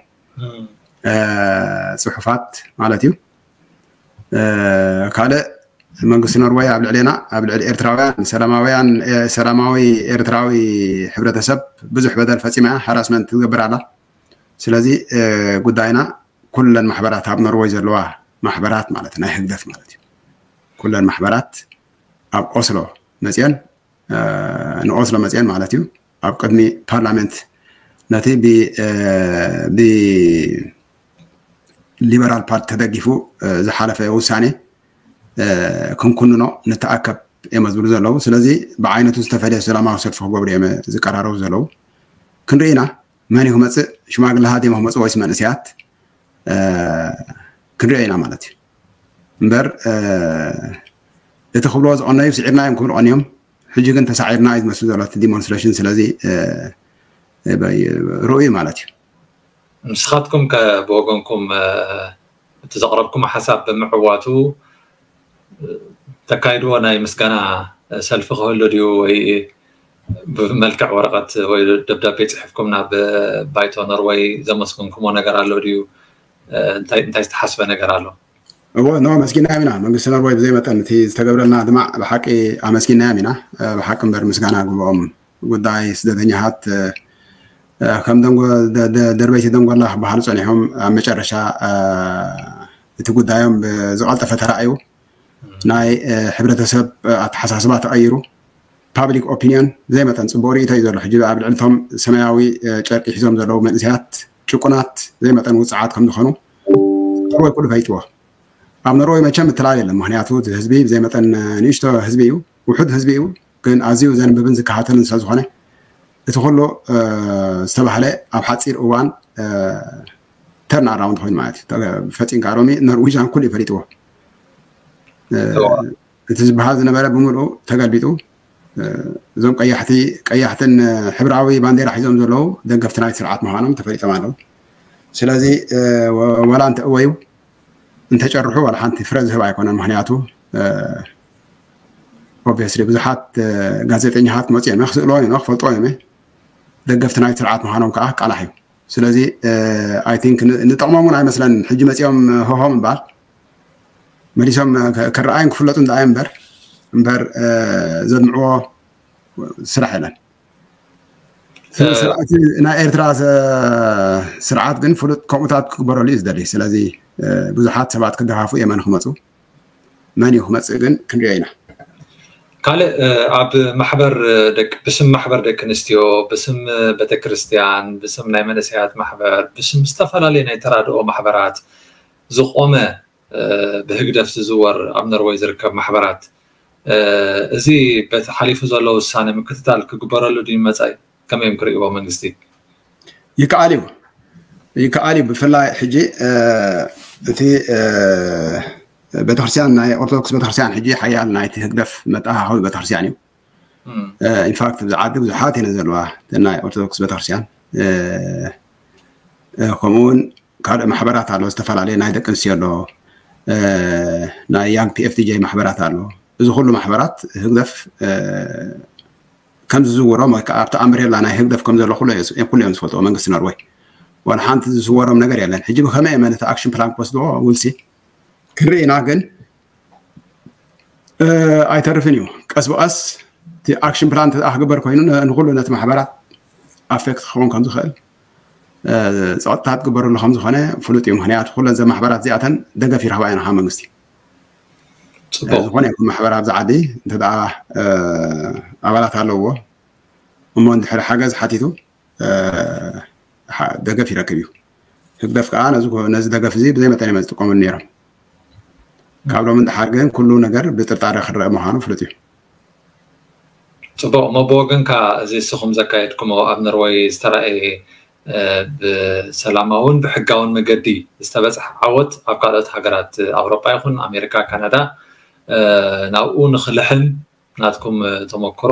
ጽሑፋት ማለት እዩ። ካልእ፣ መንግስቲ ኖርወይ ኣብ ልዕሌና፣ ኣብ ልዕሊ ኤርትራውያን፣ ሰላማውያን፣ ሰላማዊ ኤርትራዊ ሕብረተሰብ ብዙሕ በደል ፈጺማ እያ፣ ሃራስመንት ትገብር ኣላ። ስለዚ ጉዳይና ኩለን ማሕበራት፣ ኣብ ኖርወይ ዘለዋ ማሕበራት ማለት ናይ ህግደፍ ማለት እዩ፣ ኩለን ማሕበራት ኣብ ኦስሎ መፅየን፣ ንኦስሎ መፅየን ማለት እዩ፣ ኣብ ቅድሚ ፓርላመንት ነቲ ብሊበራል ፓርቲ ተደጊፉ ዝሓለፈ ውሳኔ ክንኩንኖ ንተኣከብ እዮም ዝብሉ ዘለዉ። ስለዚ ብዓይነቱ ዝተፈለየ ሰላማዊ ሰልፊ ክገብሩ እዮም ዝቀራረቡ ዘለዉ። ክንርኢ ኢና። መን እዩ ክመፅእ? ሽማግለታት እዮም ክመፅእ ወይስ መንእሰያት? ክንሪኦ ኢና ማለት እዩ። እምበር እቲ ክብልዎ ዝቐነዩ፣ ስዒርና እዮም ክብሉ ቀንዮም። ሕጂ ግን ተሳዒርና እዩ ዝመስል ዘሎ እቲ ዲሞንስትሬሽን። ስለዚ ርኡይ ማለት እዩ። ንስኻትኩም ከ ብወገንኩም እቲ ዘቕረብኩም ሓሳብ ብምዕዋቱ ተካይድዎ ናይ ምስጋና ሰልፊ ክህሉ ድዩ? ወይ ብመልክዕ ወረቐት ወይ ደብዳቤ ጽሕፍኩም ናብ ባይቶ ኖርወይ ዘመስግንኩሞ ነገር ኣሎ ድዩ? እንታይ ዝተሓስበ ነገር ኣሎ? እዎ፣ ኖ፣ ኣመስጊናዮም ኢና። መንግስቲ ኖርወይ ብዘይ መጠን እቲ ዝተገብረልና ድማ ብሓቂ ኣመስጊናዮም ኢና። ብሓቂ እምበር ምስጋና ግብኦም። ጉዳይ ስደተኛታት ከም ደርበይቲ ደንጎላ ክበሃሉ ጸኒሖም፣ ኣብ መጨረሻ እቲ ጉዳዮም ብዝቐልጠፈ ተራእዩ፣ ናይ ሕብረተሰብ ኣተሓሳስባ ተቐይሩ፣ ፓብሊክ ኦፒንዮን ብዘይ መጠን ጽቡቕ ርእይቶ እዩ ዘሎ። ሕጂ ኣብ ልዕሊ እቶም ሰማያዊ ጨርቂ ሒዞም ዘለዉ መንእሰያት ጭቁናት፣ ብዘይ መጠን ውጽዓት ከም ዝኾኑ ኖርወይ ኩሉ ፈሊጥዎ። ኣብ ኖርወይ መቸም ምትላል የለን፣ ምክንያቱ እቲ ህዝቢ ብዘይ መጠን ንእሽቶ ህዝቢ እዩ፣ ውሑድ ህዝቢ እዩ። ግን ኣዝዩ ዘንብብን ዝከታተልን ስለ ዝኾነ፣ እቲ ኩሉ ዝተባህለ ኣብ ሓፂር እዋን ተርን ኣራውንድ ኮይኑ ማለት እዩ። ፈፂምካ ሎሚ ኖርዊጃን ኩሉ እዩ ፈሊጥዎ። እቲ ዝበሃል ዝነበረ ብምልኡ ተገልቢጡ። እዞም ቀያሕቲ ቀያሕትን ሕብራዊ ባንዴራ ሒዞም ዘለዉ ደገፍቲ ናይቲ ስርዓት ምዃኖም ተፈሊጦም ኣለዉ። ስለዚ ወላ እንተእወዩ እንተጨርሑ ዋላ ሓንቲ ፍረ ዝህብ ኣይኮነን። ምክንያቱ ኦብቪየስሊ ብዙሓት ጋዜጠኛታት ክመፁ እዮም፣ ክስእልዎም እዮም፣ ክፈልጥዎም እዮም። ደገፍቲ ናይ ስርዓት ምዃኖም ከዓ ቃላሕ እዩ። ስለዚ ኣይ ቲንክ ንጠቕሞም እውን ኣይመስለን። ሕጂ መፂኦም ሆሆ ምባል፣ መሊሶም ክረኣዩን ክፍለጡን ደኣ እምበር እምበር ዘድምዕዎ ስራሕ የለን። ናይ ኤርትራ ስርዓት ግን ፍሉጥ ከምኡታት ክግበረሉ እዩ ዝደሊ። ስለዚ ብዙሓት ሰባት ክደፋፉ የመን ክመፁ፣ መን እዩ ክመፅእ ግን ክንሪኦ ኢና። ካልእ ኣብ ማሕበር ደቂ ብስም ማሕበር ደቂ ኣንስትዮ፣ ብስም ቤተክርስትያን፣ ብስም ናይ መንእሰያት ማሕበር፣ ብስም ዝተፈላለዩ ናይ ተራድኦ ማሕበራት ዝቆመ ብህግደፍ ዝዝወር ኣብ ኖርወይ ዝርከብ ማሕበራት፣ እዚ በቲ ሓሊፉ ዘሎ ውሳነ ምክትታል ክግበረሉ ድዩ መጻኢ? ከመይ እዮም ክርእይዎ መንግስቲ? ይከኣል እዩ፣ ይከኣል እዩ። ብፍላይ ሕጂ እቲ ቤተክርስትያን ናይ ኦርቶዶክስ ቤተክርስትያን ሕጂ ሓያል ናይቲ ህግደፍ መተኣኻኸቢ ቤተክርስትያን እዩ። ኢንፋክት ኣብዚ ዓዲ ብዙሓት እየን ዘለዋ ናይ ኦርቶዶክስ ቤተክርስትያን። ከምኡውን ካልእ ማሕበራት ኣሎ፣ ዝተፈላለየ ናይ ደቂ ኣንስትዮ ኣሎ፣ ናይ ያንግ ፒኤፍቲጄ ማሕበራት ኣሎ። እዚ ኩሉ ማሕበራት ህግደፍ ከም ዝዝውሮም ወይ ከዓ ኣብቲ ኣምብሬላ ናይ ህግደፍ ከም ዘሎ ኩሉ እዮም ዝፈልጥዎ መንግስቲ ኖርወይ። ዋላ ሓንቲ ዝዝወሮም ነገር የለን። ሕጂ ብከመይ እየ ነቲ ኣክሽን ፕላን ክወስድዎ ውልሲ ክንርኢ ኢና። ግን ኣይተርፍን እዩ። ቀስ ብቐስ እቲ ኣክሽን ፕላን እንተ ክግበር ኮይኑ ንኩሉ ነቲ ማሕበራት ኣፌክት ክኸውን ከም ዝኽእል ፀጥታ ትግበረሉ ከም ዝኾነ ፍሉጥ እዩ። ምክንያቱ ኩለን ዘ ማሕበራት እዚኣተን ደገፍ ይረኽባ እየን ካብ መንግስቲ። ዝኾነ ይኹን ማሕበር ኣብዚ ዓዲ እንተ ኣባላት ኣለዎ እሞ እንድሕር ሓገዝ ሓቲቱ ደገፍ ይረክብ እዩ። ህግደፍ ከዓ ነዚ ደገፍ እዚ ብዘይ መጠን እዮም ዝጥቀሙሉ ነይሮም። ካብ ሎም ንደሓር ግን ኩሉ ነገር ብጥርጣረ ክረአ ምዃኑ ፍሉጥ እዩ። ፅቡቕ እሞ ብወገንካ እዚ እስኹም ዘካየድኩሞ ኣብ ኖርወይ ዝተረኣየ ብሰላማውን ብሕጋውን መገዲ ዝተበፅሐ ዓወት ኣብ ካልኦት ሃገራት ኣውሮጳ ይኹን ኣሜሪካ፣ ካናዳ ናብኡ ንክልሕም ናትኩም ተመክሮ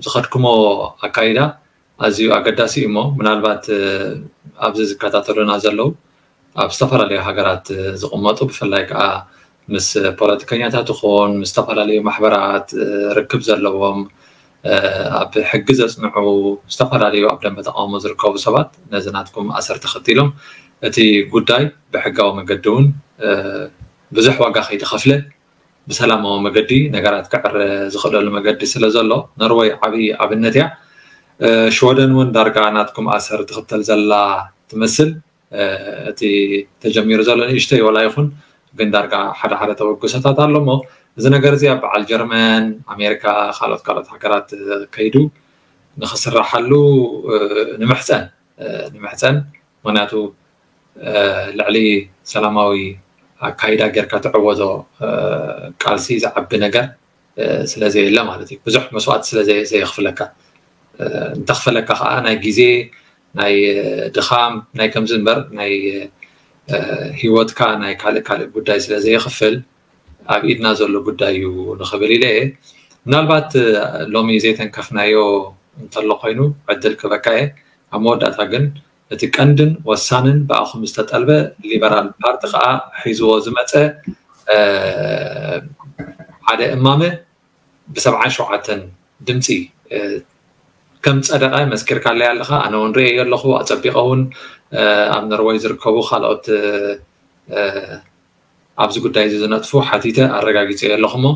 ዝኸድኩሞ ኣካይዳ ኣዝዩ ኣገዳሲ እዩ እሞ ምናልባት ኣብዚ ዝከታተሉና ዘለዉ ኣብ ዝተፈላለዩ ሃገራት ዝቕመጡ ብፍላይ ከዓ ምስ ፖለቲከኛታት ይኹን ምስ ዝተፈላለዩ ማሕበራት ርክብ ዘለዎም ኣብ ሕጊ ዘፅንዑ ዝተፈላለዩ ኣብ ደንበ ተቃውሞ ዝርከቡ ሰባት ነዚ ናትኩም ኣሰር ተኸቲሎም እቲ ጉዳይ ብሕጋዊ መገዲ እውን ብዙሕ ዋጋ ከይተኸፍለ ብሰላማዊ መገዲ ነገራት ክዕረ ዝኽእለሉ መገዲ ስለ ዘሎ ኖርወይ ዓብዪ ኣብነት እያ። ሽወደን እውን ዳርጋ ናትኩም ኣሰር ትኽተል ዘላ ትመስል። እቲ ተጀሚሩ ዘሎ ንእሽተይ ወላ ይኹን ግን ዳርጋ ሓደ ሓደ ተበግሶታት ኣሎ እሞ እዚ ነገር እዚ ኣብ በዓል ጀርመን፣ ኣሜሪካ፣ ካልኦት ካልኦት ሃገራት ከይዱ ንክስራሓሉ ንምሕፀን ንምሕፀን ምክንያቱ ልዕሊ ሰላማዊ ኣካይዳ ጌርካ ትዕወቶ ቃልሲ ዝዓቢ ነገር ስለዘየለ ማለት እዩ። ብዙሕ መስዋእቲ ስለዘየኽፍለካ እንተኽፈለካ ከዓ ናይ ግዜ ናይ ድኻም ናይ ከምዚ እምበር ናይ ሂወትካ ናይ ካልእ ካልእ ጉዳይ ስለዘየኽፍል ኣብ ኢድና ዘሎ ጉዳይ እዩ ንኽብል ኢለ እየ። ምናልባት ሎሚ ዘይተንከፍናዮ እንተሎ ኮይኑ ዕድል ክበካ እየ። ኣብ መወዳእታ ግን እቲ ቀንድን ወሳንን ብኣኹም ዝተጠልበ ሊበራል ፓርቲ ከዓ ሒዝዎ ዝመፀ ሓደ እማመ ብሰብዓን ሸውዓተን ድምፂ ከም ፀደቐ መስኪርካለይ ኣለኻ። ኣነ እውን ርእየ ኣለኹ። ኣፀቢቐ እውን ኣብ ኖርወይ ዝርከቡ ካልኦት ኣብዚ ጉዳይ እዚ ዝነጥፉ ሓቲተ ኣረጋጊፀ ኣለኹ እሞ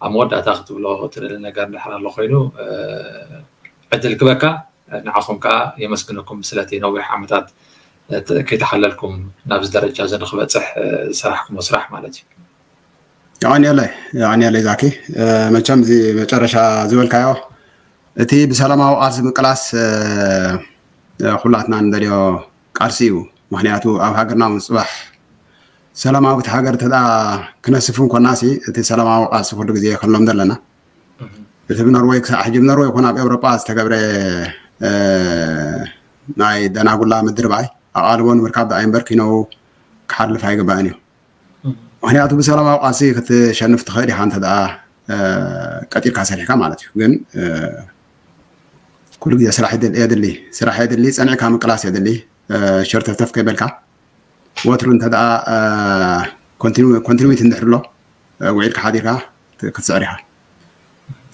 ኣብ መወዳእታ ክትብሎ ትደሊ ነገር እንድሕር ኣሎ ኮይኑ ዕድል ክበካ ንዓኹም ከዓ የመስግነኩም ስለቲ ነዊሕ ዓመታት ከይተሓለልኩም ናብዚ ደረጃ እዚ ንክበፅሕ ዝሰራሕኩሞ ስራሕ ማለት እዩ። የቐንየለይ የቐንየለይ ዛኪ። መቸም እዚ መጨረሻ ዝበልካዮ እቲ ብሰላማዊ ቃልሲ ምቅላስ ኩላትና ንደልዮ ቃልሲ እዩ። ምክንያቱ ኣብ ሃገርና እውን ፅባሕ ሰላማዊት ሃገር እንተ ክነስፍ እንኮና ሲ እቲ ሰላማዊ ቃልሲ ኩሉ ግዜ ከሎም ዘለና እቲ ብኖርወይ ክሳዕ ሕጂ ብኖርወይ ይኹን ኣብ ኤውሮጳ ዝተገብረ ናይ ደናጉላ ምድርባይ ኣቓልቦ ንምርካብ ደኣ እምበር ኪነው ክሓልፍ ኣይግባእን እዩ። ምክንያቱ ብሰላማዊ ቃልሲ ክትሸንፍ ትኽእል ኢኻ እንተ ደኣ ቀጢርካ ሰሪሕካ ማለት እዩ። ግን ኩሉ ግዜ ስራሕ የድሊ ስራሕ የድሊ፣ ፀኒዕካ ምቅላስ የድሊ። ሸርተፍተፍ ከይበልካ ወትሩ እንተ ደኣ ኮንቲኒዊቲ እንድሕር ኣሎ ውዒልካ ሓዲርካ ክትስዕር ኢኻ።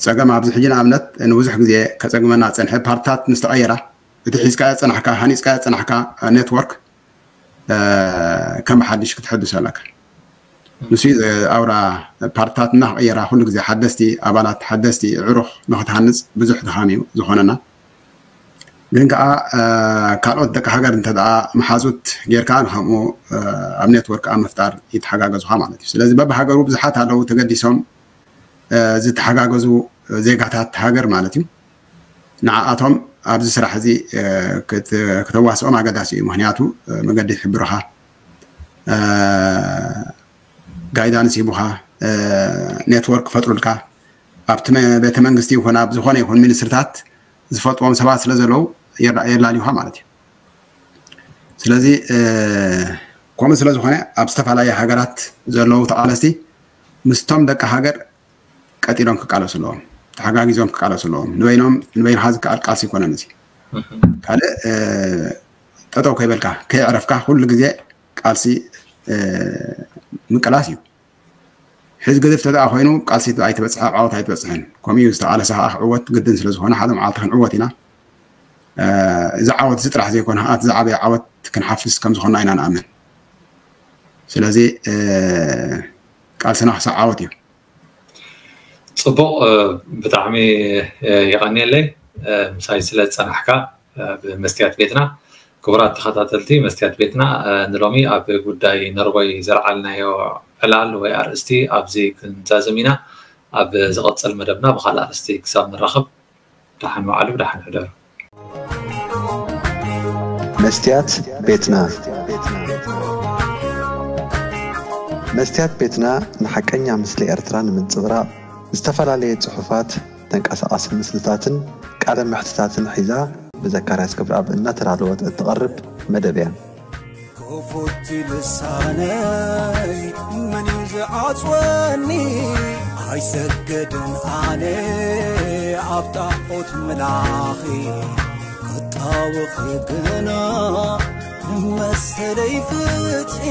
ፀገም ኣብዚ ሕጂ ንኣብነት ንብዙሕ ግዜ ከፀግመና ዝፀንሐ ፓርትታት ምስ ተቐየራ እቲ ሒዝካዮ ዝፀናሕካ ሃኒፅካዮ ዝፀናሕካ ኔትወርክ ከም ሓድሽ ክትሕድሶ ኣለካ። ንሱ ኣውራ ፓርትታት እናክቐየራ ኩሉ ግዜ ሓደስቲ ኣባላት ሓደስቲ ዕሩኽ ንክትሃንፅ ብዙሕ ድኻም እዩ ዝኾነና። ግን ከዓ ካልኦት ደቂ ሃገር እንተ ደኣ መሓዙት ጌርካ ንከምኡ ኣብ ኔትወርክ ኣብ ምፍጣር ይተሓጋገዙኻ ማለት እዩ። ስለዚ በብሃገሩ ብዙሓት ኣለዉ ተገዲሶም ዝተሓጋገዙ ዜጋታት ሃገር ማለት እዩ። ንዓኣቶም ኣብዚ ስራሕ እዚ ከተዋስኦም ኣገዳሲ እዩ። ምክንያቱ መገዲ ይሕብሩኻ፣ ጋይዳንስ ሂቡኻ፣ ኔትወርክ ክፈጥሩልካ ኣብቲ ቤተ መንግስቲ ይኹን ኣብ ዝኾነ ይኹን ሚኒስትርታት ዝፈልጥዎም ሰባት ስለ ዘለዉ የላልዩኻ ማለት እዩ። ስለዚ ከምኡ ስለ ዝኾነ ኣብ ዝተፈላለየ ሃገራት ዘለዉ ተቓለስቲ ምስቶም ደቂ ሃገር ቀጢሎም ክቃለሱ ኣለዎም። ተሓጋጊዞም ክቃለሱ ኣለዎም። ንበይኖም ንበይንኻ ዝከኣል ቃልሲ ኣይኮነን እዚ። ካልእ ጠጠው ከይበልካ ከይዕረፍካ ኩሉ ግዜ ቃልሲ ምቅላስ እዩ። ሕዚ ግድፍ ተደኣ ኮይኑ ቃልሲ ኣይትበፅሕ፣ ኣብ ዓወት ኣይትበፅሕን። ከምኡ እዩ ዝተቃለሰ ከዓ ክዕወት ግድን ስለዝኾነ ሓደ መዓልቲ ክንዕወት ኢና። እዚ ዓወት እዚ ጥራሕ ዘይኮነ ከዓ እቲ ዝዓበየ ዓወት ክንሓፍስ ከምዝኾንና ኢና ንኣምን። ስለዚ ቃልስና ክሳብ ዓወት እዩ። ፅቡቕ። ብጣዕሚ የቐንየለይ ምሳይ ስለ ዝፀናሕካ ብመስትያት ቤትና። ክቡራት ተኸታተልቲ መስትያት ቤትና፣ ንሎሚ ኣብ ጉዳይ ነርቦይ ዘልዓልናዮ ዕላል ወይ ኣርእስቲ ኣብዚ ክንዛዘም ኢና። ኣብ ዝቐፅል መደብና ብካልእ ኣርእስቲ ክሳብ ንራኸብ ደሓን ዋዕሉ፣ ደሓን ሕደሩ። መስትያት ቤትና። መስትያት ቤትና ንሓቀኛ ምስሊ ኤርትራ ንምንጽብራቕ ዝተፈላለየ ጽሑፋት፣ ተንቀሳቓሲ ምስልታትን ቃለ መሕትታትን ሒዛ ብዘካርያስ ክብረኣብ እናተዳለወት እትቐርብ መደብ እያ። ክፉት ልሳነይ መን እዩ ዝዓጽወኒ? ኣይሰግድን ኣነ ኣብ ጣዖት ምላኺ፣ ክጣወኺ ግና ንመሰለይ ፍትሒ።